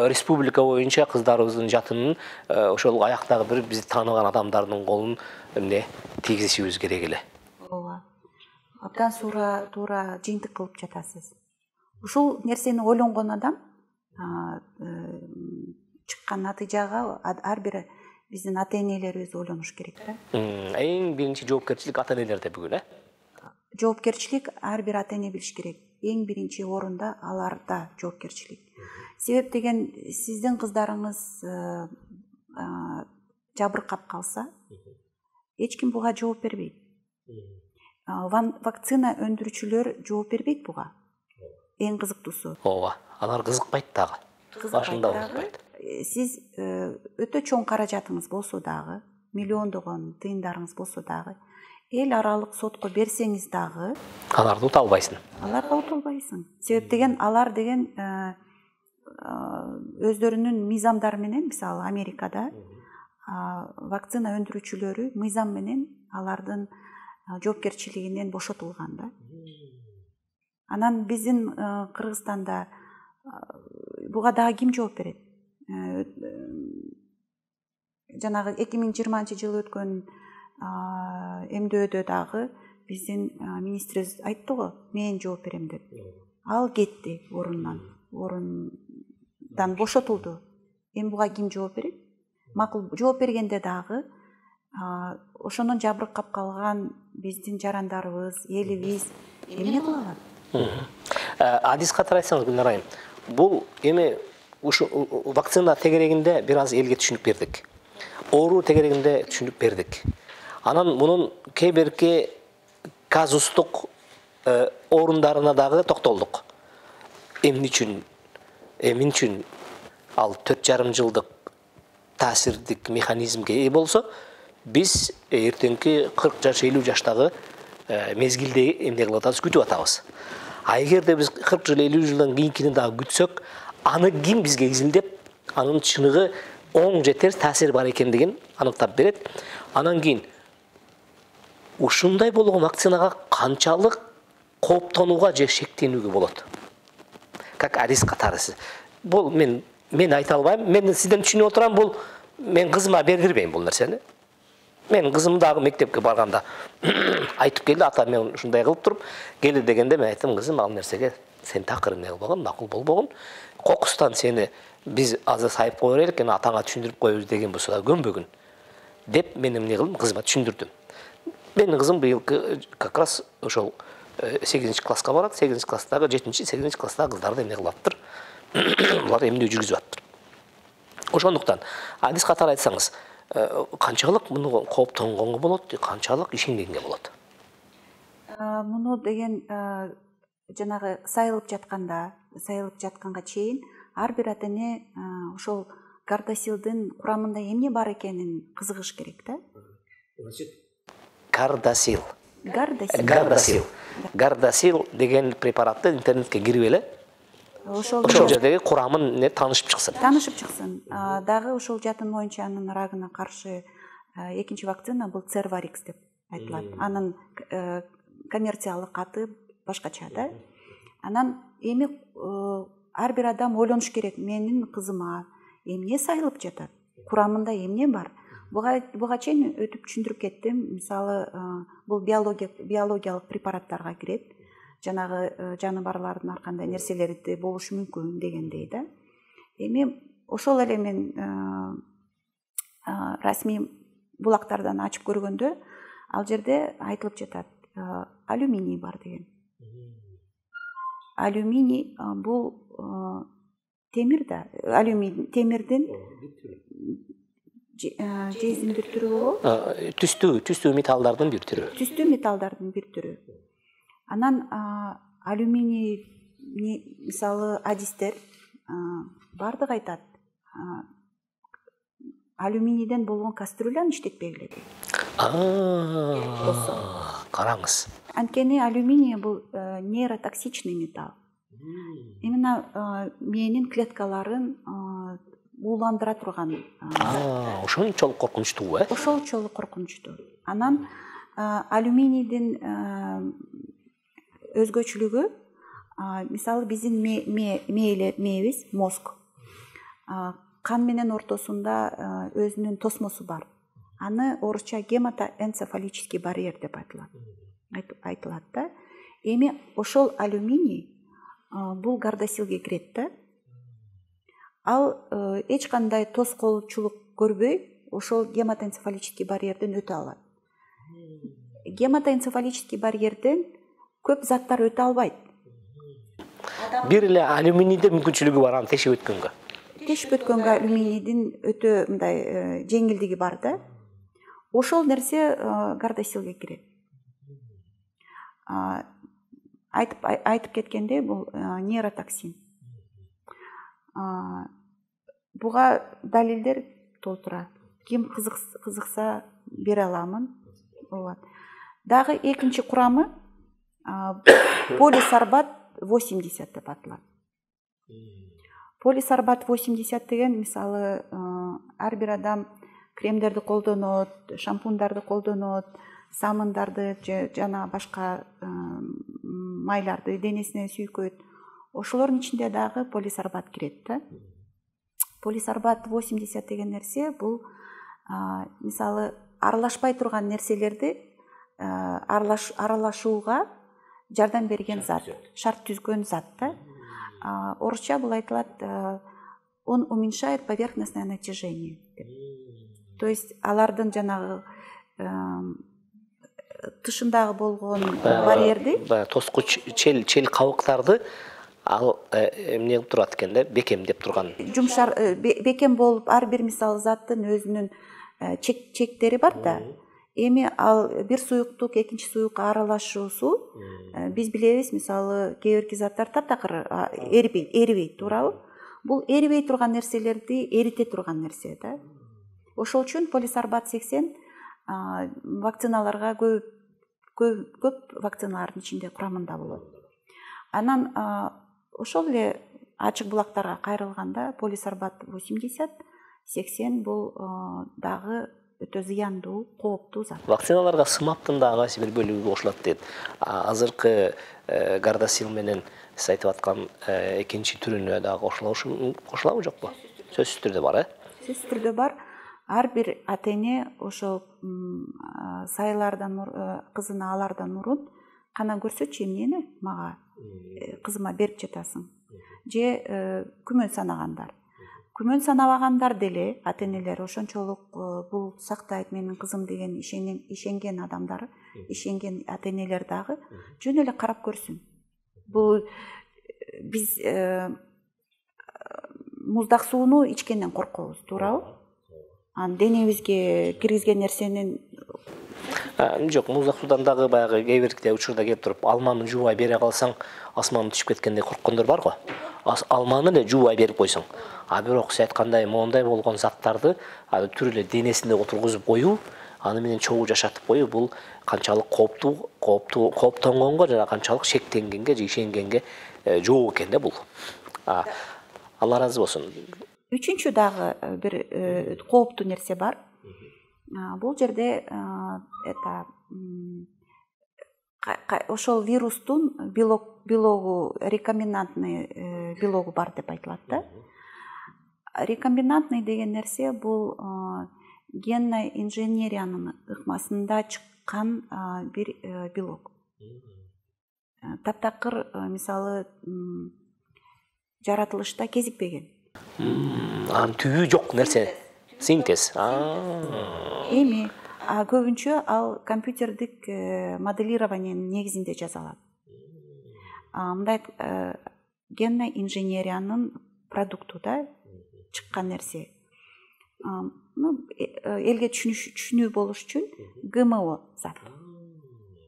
Speaker 2: республика боюнча кыздарыбыздын жатынын ошол аяктагы бир бизди тааныган адамдардын колун эмне тийгизишибиз керек эле.
Speaker 1: Ооба. Абдан туура жыйынтык кылып жатасыз. Ушул нерсени ойлонгон адам чыккан натыйжага ар бир биздин ата-энелерибиз ойлонуш керек да.
Speaker 2: Эң биринчи жоопкерчилик ата-энелерде бүгүн,
Speaker 1: Жоопкерчилик ар бир ата-эне билиш керек. Эң биринчи орунда аларда жоопкерчилик. Себеп деген сиздин кыздарыңыз жабыркап калса, эч ким буга жооп бербейт. Вакцина өндүрүүчүлөр жооп бербейт буга. Эң кызыктуусу.
Speaker 2: Ооба, алар кызыкпайт дагы. Башында кызыкпайт.
Speaker 1: Сиз өтө чоң каражатыңыз болсо дагы, миллиондогон тыйындарыңыз болсо дагы, эл аралык сотко берсеңиз дагы,
Speaker 2: аларды ута албайсың.
Speaker 1: Аларга ута албайсың. Себеп деген алар деген өздөрүнүн мыйзамдары менен, мисалы Америкада вакцина өндүрүүчүлөрү мыйзам менен алардын жоопкерчилигинен бошотулган да. Анан биздин Кыргызстанда буга дагы ким жооп берет? Жанагы 2020-жылы өткөн эмдөөдө дагы биздин министрибиз айтты го, мен жооп берем деп. Ал кетти орундан бошотулду. Эми буга ким жооп берет? Макул жооп бергенде дагы ошонун жабыркап калган биздин жарандарыбыз, элибиз эмне кыла алат?
Speaker 2: Адис катары айтсаңыз, Гүлнар айым, бул эми ушу вакцина тегерегинде бир аз элге түшүнүк бердик. Оору тегерегинде түшүнүк бердик. Анан мунун кээ бирки казустук орундарына дагы токтолдук. Эмне үчүн ал 4,5 жылдык таасирдик механизмге ээ болсо, биз эртеңки 40 жаш, 50 жаштагы мезгилде эмне кылып атабыз, күтүп атабыз. Эгерде биз 40 жыл, 50 жылдан кийинкини дагы күтсөк, аны ким бизге изилдеп, анын чыныгы оң же терс таасири бар экендигин аныктап берет. Анан кийин ушундай болгон вакцинага канчалык кооптонууга же шектенүүгө болот? Как риск катарысы. Бул мен айта албайм. Мен сизден түшүнүп отурам, бул мен кызыма бердирбейм бул нерсени. Мен кызым дагы мектепке барганда айтып келди, ата мен ушундай кылып туруп келди дегенде мен айттым, кызым ал нерсеге сен такыр эмне кылбаган, макул болбогон. Кокустан сени биз азыр сайып кое берелик, атаңа түшүндүрүп коебуз деген болсо да көнбөгүн деп мен эмне кылдым, кызыма түшүндүрдүм. Менин кызым быйылкы как раз ошол 8-класска барат. 8-класстагы 7-8 класстагы кыздарды эмне кылып аттыр? Булар эмне жүргүзүп аттыр. Ошондуктан адис катары айтсаңыз, канчалык муну кооптонгонго болот, канчалык ишенгенге болот?
Speaker 1: Муну деген жанагы сайылып жатканга чейин ар бир ата эне ошол Гардасилдин курамында эмне бар экенин кызыгыш керек да.
Speaker 2: Гардасил деген препаратты интернетке кирип эле ошол жердеги курамын таанышып чыксын. Дагы ошол жатын моюнчанын рагына каршы экинчи вакцина бул Cervarix деп айтылат. Анын коммерциялык аты башкача да. Анан эми ар бир адам ойлонуш керек, менин кызыма эмне сайылып жатат, курамында эмне бар. Буга чейин өтүп түшүндүрүп кеттим. Мисалы, бул биологиялык препараттарга кирет. Жанагы жаныбарлардын ар кандай нерселери болушу мүмкүн дегендей да. Эми ошол эле мен расмий булактардан ачып көргөндө ал жерде айтылып жатат, алюминий бар деген. Алюминий бул темир да, алюминий темирдин жезин бир түрү болобу? Түстүү металлдардын бир түрү.
Speaker 1: Түстүү металлдардын бир түрү. Анан алюминий мисалы адистер бардык айтат. Алюминийден болгон кастрюляны иштетпегиле дейт.
Speaker 2: Караңыз.
Speaker 1: Анткени алюминий бул нейротоксичный металл. Именно мээнин клеткаларын ууландыра турган.
Speaker 2: Ошончолук коркунучтуу,
Speaker 1: Ошолчолук коркунучтуу. Анан алюминийдин өзгөчөлүгү, мисалы биздин мээбиз, мозг, кан менен ортосунда өзүнүн тосмосу бар. Аны орусча гематоэнцефалический барьер деп айтылат да. Эми ошол алюминий бул Гардасилге кирет да. Ал эч кандай тоскоолчулук көрбөй, ошол гематоэнцефалический барьерден өтө алат. Гематоэнцефалический барьерден көп заттар өтө албайт.
Speaker 2: Бир эле алюминийде мүмкүнчүлүгү бар аны тешип өткөнгө.
Speaker 1: Алюминийдин өтө мындай жеңилдиги бар да. Ошол нерсе Гардасилге кирет. Айтып кеткендей, бул нейротоксин. Буга далилдер толтура. Ким кызыкса бере аламын. Дагы экинчи курамы полисорбат 80 деп аталат. Полисорбат 80 деген мисалы ар бир адам кремдерди колдонот, шампундарды колдонот, самындарды жана башка майларды денесине сүйкөйт. Ошолордун ичинде дагы полисорбат кирет да. Полисорбат 80 деген нерсе бул мисалы аралашпай турган нерселерди аралашууга жардам берген зат, шарт түзгөн зат да. Орусча бул айтылат, он уменьшает поверхностное натяжение. То есть алардын жанагы тышындагы болгон барьерди,
Speaker 2: тоскуч чел кабыктарды ал эмне кылып турат экен да, бекемдеп турган.
Speaker 1: Жумшар бекем болуп, ар бир мисалы заттын өзүнүн чектери бар да. Эми ал бир суюктук экинчи суюкка аралашуусу биз билебиз, мисалы кээ бирки заттар таптакыр эрибейт, туурабы? Бул эрибей турган нерселерди эрите турган нерсе да. Ошол үчүн полисорбат 80 вакциналарга көп вакциналардын ичинде курамында болот. Анан ошол эле ачык булактарга кайрылганда полисорбат 80 бул дагы өтө зыяндуу, кооптуу зат.
Speaker 2: Вакциналарга сымаптын да кайсы бир бөлүгү кошулат дейт. Азыркы Gardasil менен сиз айтып аткан экинчи түрүнө дагы кошулабы жокпу? Сөзсүз түрдө бар,
Speaker 1: Сөзсүз түрдө бар. Ар бир ата-эне ошол кызына алардан мурун кана көрсөчү эмнени мага кызыма берип жатасың. Же күмөн санагандар. Күмөн санабагандар деле ата-энелер ошончолук бул сактайт менин кызым деген ишенген адамдар, ишенген ата-энелер дагы жөн эле карап көрсүн. Бул биз муздак сууну ичкенден коркобуз, туурабы? Денебизге киргизген нерсенин
Speaker 2: жок, муздак суудан дагы баягы кээ бирде учурда келип туруп, алманы жуубай бере калсаң, асманы түшүп кеткендей корккондор бар го. Алманы эле жуубай берип койсоң. Бирок сиз айткандай моундай болгон заттарды түр эле денесинде отургузуп коюу, аны менен чогуу жашатып коюу, бул канчалык кооптонгонго жана канчалык шектенгенге же ишенгенге жоо экен да бул. Алла ыраазы болсун.
Speaker 1: Үчүнчү дагы бир кооптуу нерсе бар. Бул жерде ошол вирустун белогу, рекомбинантный белогу бар деп айтылат да. Рекомбинантный деген нерсе бул генный инженериянын ыкмасында чыккан бир белок. Таптакыр мисалы жаратылышта кезикпеген.
Speaker 2: Анын түбү жок нерсе. Синтез.
Speaker 1: Эми көбүнчө ал компьютердик моделированиянын негизинде жасалат. Мындай генный инженериянын продукту да чыккан нерсе. Элге түшүнүү болуш үчүн ГМО зат.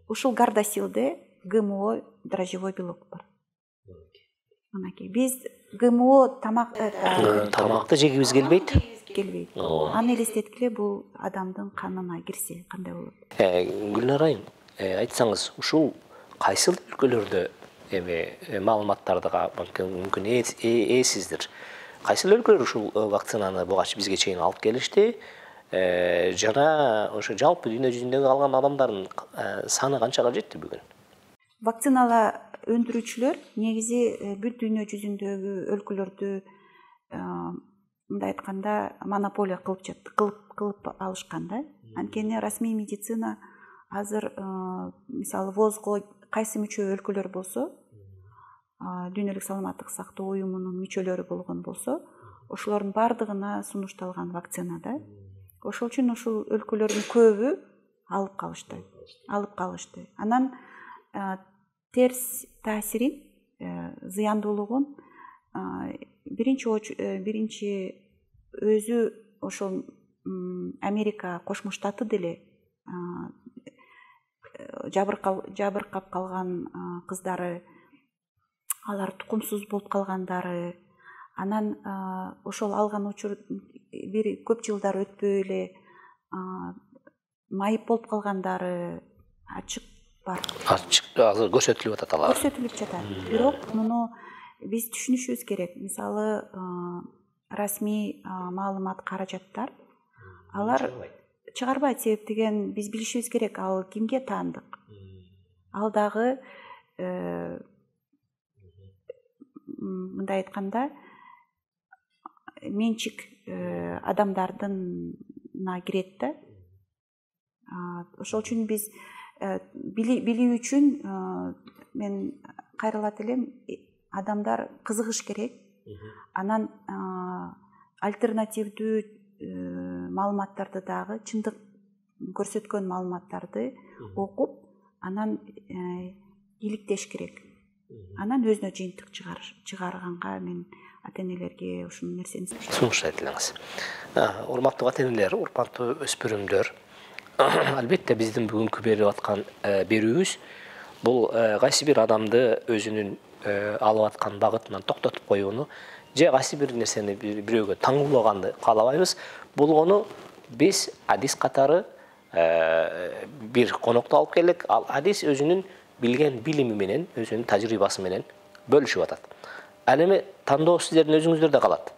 Speaker 1: Ушул Gardasil'де ГМО дрожжевой белок бар. Мынакей биз ГМО
Speaker 2: тамакты жегибиз келбейт.
Speaker 1: Аны элестеткиле бул адамдын канына кирсе кандай болот?
Speaker 2: Гүлнар айым, айтсаңыз, ушул кайсыл өлкөлөрдө маалыматтарды мүмкүн эсиздир. Кайсыл өлкөлөр ушул вакцинаны буга бизге чейин алып келишти? Жана ошо жалпы дүйнө жүзүндөгү калган адамдардын саны канчага жетти бүгүн?
Speaker 1: Вакцинала өндүрүүчүлөр негизи бүт дүйнө жүзүндөгү өлкөлөрдү мындай айтканда монополия кылып алышкан да. Анткени расмий медицина азыр мисалы ВОЗго кайсы мүчө өлкөлөр болсо, дүйнөлүк саламаттык сактоо уюмунун мүчөлөрү болгон болсо, ошолордун бардыгына сунушталган вакцина да. Ошол үчүн ушул өлкөлөрдүн көбү алып калышты. Анан терс таасирин, зыяндуулугун биринчи өзү ошол Америка Кошмо Штаты деле жабыркап калган кыздары, алар тукумсуз болуп калгандары, анан ошол алган учур бир көп жылдар өтпөй эле майып болуп калгандары ачык бар.
Speaker 2: Азыр көрсөтүлүп атат алар.
Speaker 1: Көрсөтүлүп жатат. Бирок муну биз түшүнүшүбүз керек. Мисалы расмий маалымат каражаттар алар чыгарбайт, себеп деген биз билишибиз керек, ал кимге таандык. Ал дагы мындай айтканда менчик адамдардына кирет да. Ошол үчүн биз билүү үчүн мен кайрылат элем, адамдар кызыгыш керек. Анан альтернативдүү маалыматтарды дагы, чындык көрсөткөн маалыматтарды окуп, анан иликтеш керек. Анан өзүнө жыйынтык чыгарганга мен ата-энелерге ушул нерсени
Speaker 2: сунуш айтылыңыз. Урматтуу ата-энелер, урматтуу өспүрүмдөр, албетте биздин бүгүнкү берип аткан берүүбүз бул кайсы бир адамды өзүнүн алып аткан багытынан токтотуп коюуну же кайсы бир нерсени бирөөгө таңуулаганды каалабайбыз. Болгону биз Адис катары бир конокто алып келдик. Ал Адис өзүнүн билген билими менен, өзүнүн тажрыйбасы менен бөлүшүп атат. Ал эми тандоо сиздердин өзүңүздөрдө калат.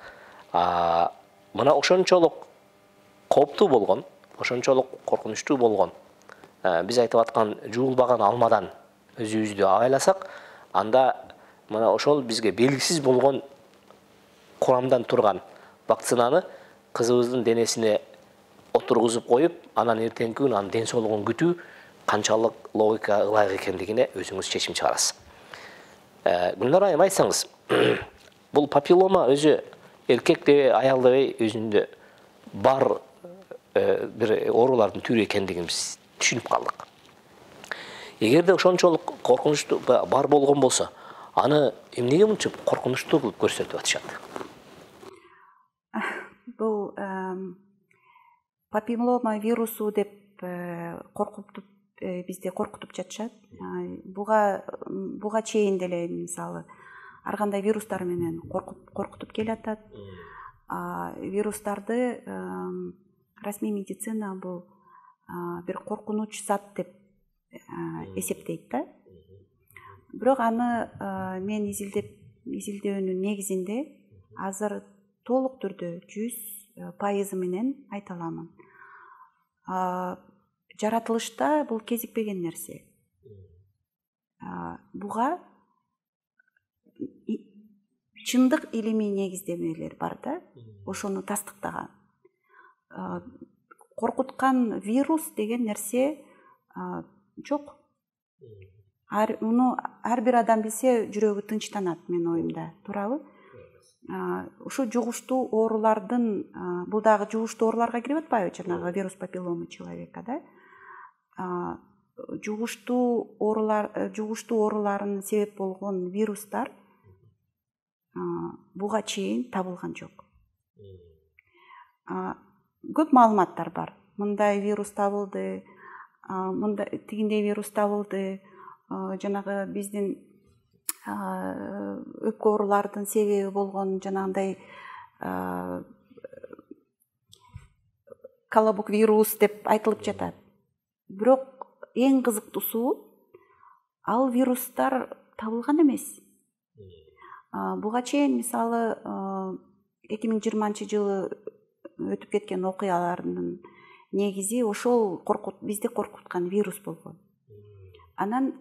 Speaker 2: Мына ошончолук кооптуу болгон, ошончолук коркунучтуу болгон, биз айтып аткан жуулбаган алмадан өзүбүздү абайласак, анда мына ошол бизге белгисиз болгон курамдан турган вакцинаны кызыбыздын денесине отургузуп коюп, анан эртеңки күнү анын ден соолугун күтүү канчалык логика ылайык экендигине өзүңүз чечим чыгарасыз. Гүлнар айым, айтсаңыз, бул папиллома өзү эркек дебей, аял дебей өзүндө бар бир оорулардын түрү экендигин биз түшүнүп калдык. Эгерде ошончолук коркунучтуу бар болгон болсо, аны эмнеге мынча коркунучтуу кылып көрсөтүп атышат?
Speaker 1: Бул папиллома вирусу деп бизди коркутуп жатышат. Буга чейин деле мисалы ар кандай вирустар менен коркутуп келатат. Вирустарды расмий медицина бул бир коркунуч зат деп эсептейт да. Бирок аны мен изилдөөнүн негизинде азыр толук түрдө 100% менен айта аламын. Жаратылышта бул кезикпеген нерсе. Буга чындык илимий негиздемелер бар да, ошону тастыктаган. Коркуткан вирус деген нерсе жок. Муну ар бир адам билсе жүрөгү тынчтанат, менин оюмда, туурабы? Ушу жугуштуу оорулардын, бул дагы жугуштуу ооруларга кирип атпайбы, жанагы вирус папиллома человека, да? Жугуштуу оорулардын себеп болгон вирустар буга чейин табылган жок. Көп маалыматтар бар. Мындай вирус табылды, тигиндей вирус табылды, жанагы биздин өпкө оорулардын себеби болгон жанагындай колобок вирус деп айтылып жатат. Бирок эң кызыктуусу, ал вирустар табылган эмес. Буга чейин мисалы 2020-жылы өтүп кеткен окуялардын негизи ошол бизди коркуткан вирус болгон. Анан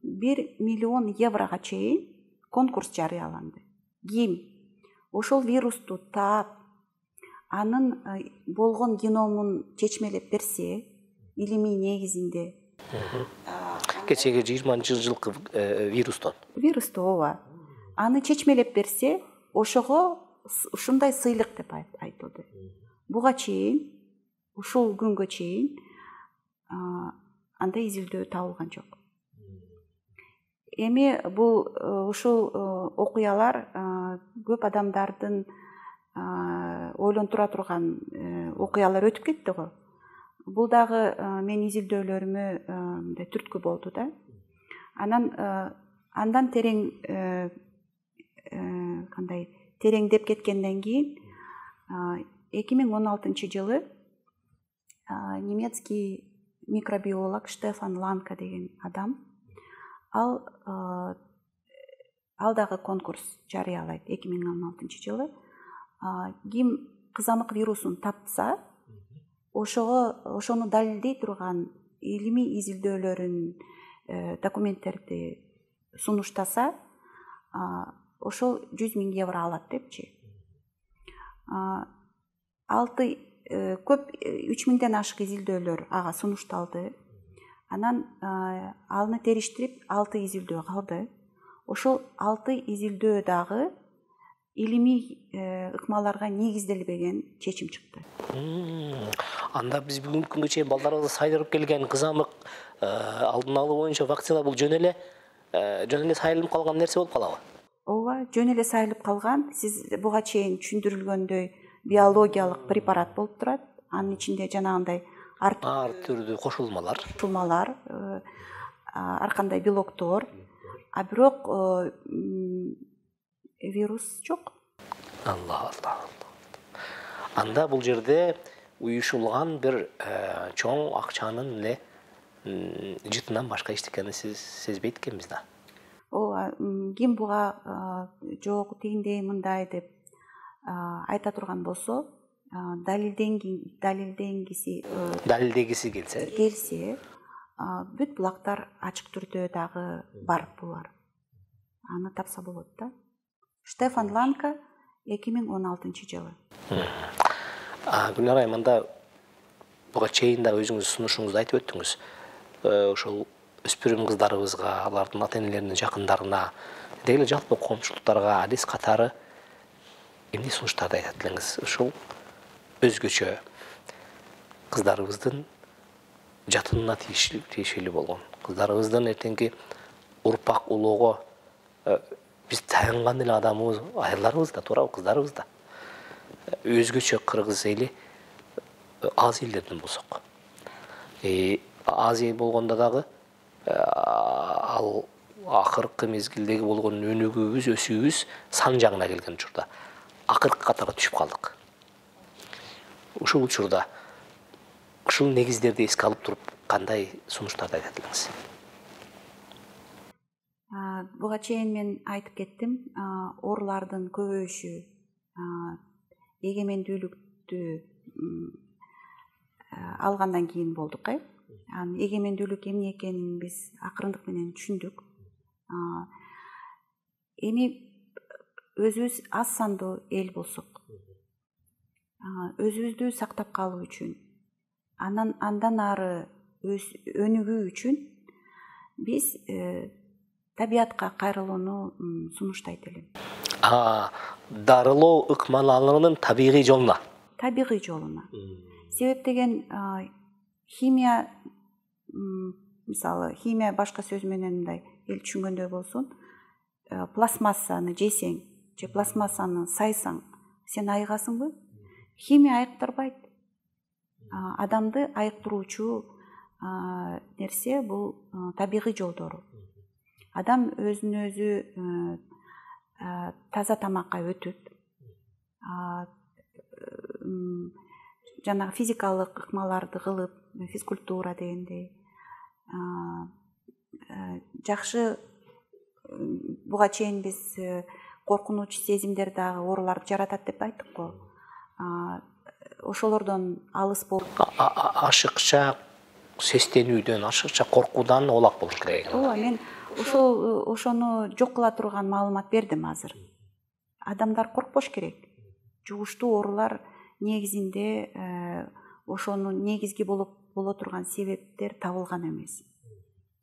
Speaker 1: 1 миллион еврога чейин конкурс жарыяланды. Ким ошол вирусту таап, анын болгон геномун чечмелеп берсе, илимий негизинде.
Speaker 2: Кечеги 20-жылкы
Speaker 1: вирусту ооба. Аны чечмелеп берсе, ошого ушундай сыйлык деп айтылды. Буга чейин, ушул күнгө чейин андай изилдөө табылган жок. Эми бул ушул окуялар көп адамдардын ойлонтура турган окуялар өтүп кетти го. Бул дагы менин изилдөөлөрүмө түрткү болду да. Андан тереңдеп кеткенден кийин 2016-жылы немецкий микробиолог Штефан Ланка деген адам, ал дагы конкурс жарыялайт 2016-жылы. Ким кызамык вирусун тапса, ошону далилдей турган илимий изилдөөлөрүн, документтерди сунуштаса, ошол 100 000 евро алат депчи. 3000ден ашык изилдөөлөр ага сунушталды. Анан аны териштирип 6 изилдөө калды. Ошол 6 изилдөө дагы илимий ыкмаларга негизделбеген чечим чыкты.
Speaker 2: Анда биз бүгүнкү күнгө чейин балдарыбызга сайдырып келген кызамык алдын алуу боюнча вакцина бул жөн эле сайылып калган нерсе болуп калабы?
Speaker 1: Ооба, жөн эле сайылып калган. Сиз буга чейин түшүндүрүлгөндөй биологиялык препарат болуп турат. Анын ичинде жанагындай ар
Speaker 2: түрдүү кошулмалар,
Speaker 1: ар кандай белоктор, бирок вирус жок.
Speaker 2: Алла. Анда бул жерде уюшулган бир чоң акчанын эле жытынан башка эчтекени сиз сезбейт экенбиз да.
Speaker 1: Ким буга жок, тигиндей, мындай деп айта турган болсо, далилденгиси келсе, бүт булактар ачык түрдө дагы бар булар. Аны тапса болот да. Штефан Ланка 2016-жылы.
Speaker 2: Гүлнар Айманда буга чейин да өзүңүз сунушуңузда айтып өттүңүз. Ошол өспүрүм кыздарыбызга, алардын ата-энелеринин жакындарына, деги эле жалпы коомчулуктарга адис катары эмне сунуштарды айтат элеңиз? Ушул өзгөчө кыздарыбыздын жатынына тиешелүү болгон, кыздарыбыздын эртеңки урпак улоого биз таянган эле адамыбыз, айырларыбыз да, туурабы, кыздарыбыз да. Өзгөчө кыргыз эли аз элдерден болсок. Аз эл болгондо дагы ал акыркы мезгилдеги болгон өнүгүүбүз, өсүүбүз сан жагына келген учурда акыркы катарга түшүп калдык. Ушул учурда ушул негиздерди эске алып туруп кандай сунуштарды айтат элеңиз?
Speaker 1: Буга чейин мен айтып кеттим, орлардын көбөйүшү эгемендүүлүктү алгандан кийин болдук. Эгемендүүлүк эмне экенин биз акырындык менен түшүндүк. Эми өзүбүз аз сандуу эл болсок, өзүбүздү сактап калуу үчүн, андан ары өнүгүү үчүн биз табиятка кайрылууну сунуштайт элем.
Speaker 2: Дарылоо ыкмалануунун табигый жолуна.
Speaker 1: Табигый жолуна. Себеп деген химия, мисалы, химия башка сөз менен мындай эл түшүнгөндөй болсун, пластмассаны жесең же пластмассаны сайсаң, сен айыгасыңбы? Химия айыктырбайт. Адамды айыктыруучу нерсе бул табигый жолдору. Адам өзүн өзү таза тамакка өтүп, жана физикалык ыкмаларды кылып, физкультура дегендей, жакшы, буга чейин биз коркунуч сезимдер дагы ооруларды жаратат деп айттык го. Ошолордон алыс болуп,
Speaker 2: ашыкча сестенүүдөн, ашыкча коркуудан оолак болуш керек.
Speaker 1: Ооба, мен ошону жок кыла турган маалымат бердим азыр. Адамдар коркпош керек. Жугуштуу оорулар негизинде ошону негизги боло турган себептер табылган эмес.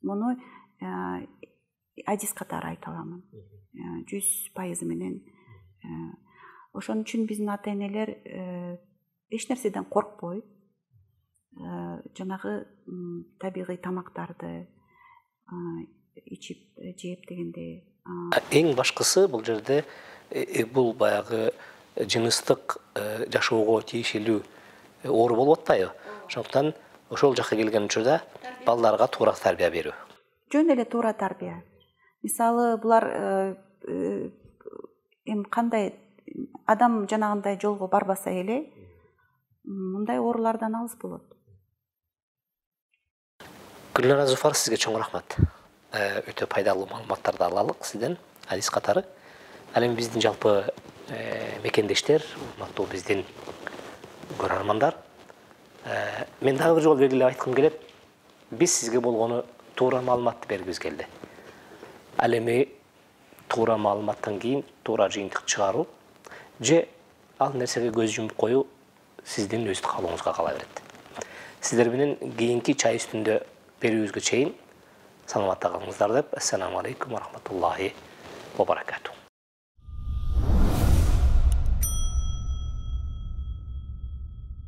Speaker 1: Муну адис катары айта аламын. 100% менен. Ошон үчүн биздин ата-энелер эч нерседен коркпой, жанагы табигый тамактарды ичип, жеп дегендей.
Speaker 2: Эң башкысы бул жерде бул баягы жыныстык жашоого тиешелүү оору болуп атпайбы? Ошондуктан ошол жакка келген учурда балдарга туура тарбия берүү.
Speaker 1: Жөн эле туура тарбия. Мисалы, булар эми кандай адам жанагындай жолго барбаса эле, мындай оорулардан алыс болот.
Speaker 2: Гүлнара Зуфар, сизге чоң рахмат. Өтө пайдалуу маалыматтарды алалык сизден, адис катары. Ал эми биздин жалпы мекендештер, урматтуу биздин көрөрмандар, мен дагы бир жолу белгилеп айткым келет, биз сизге болгону туура маалыматты бергибиз келди. Ал эми туура маалыматтан кийин туура жыйынтык чыгаруу же ал нерсеге көз жумуп коюу сиздин өз каалооңузга кала берет. Сиздер менен кийинки чай үстүндө берүүбүзгө чейин саламатта калыңыздар деп, ассаламу алейкум ва рахматуллахи ва баракатух.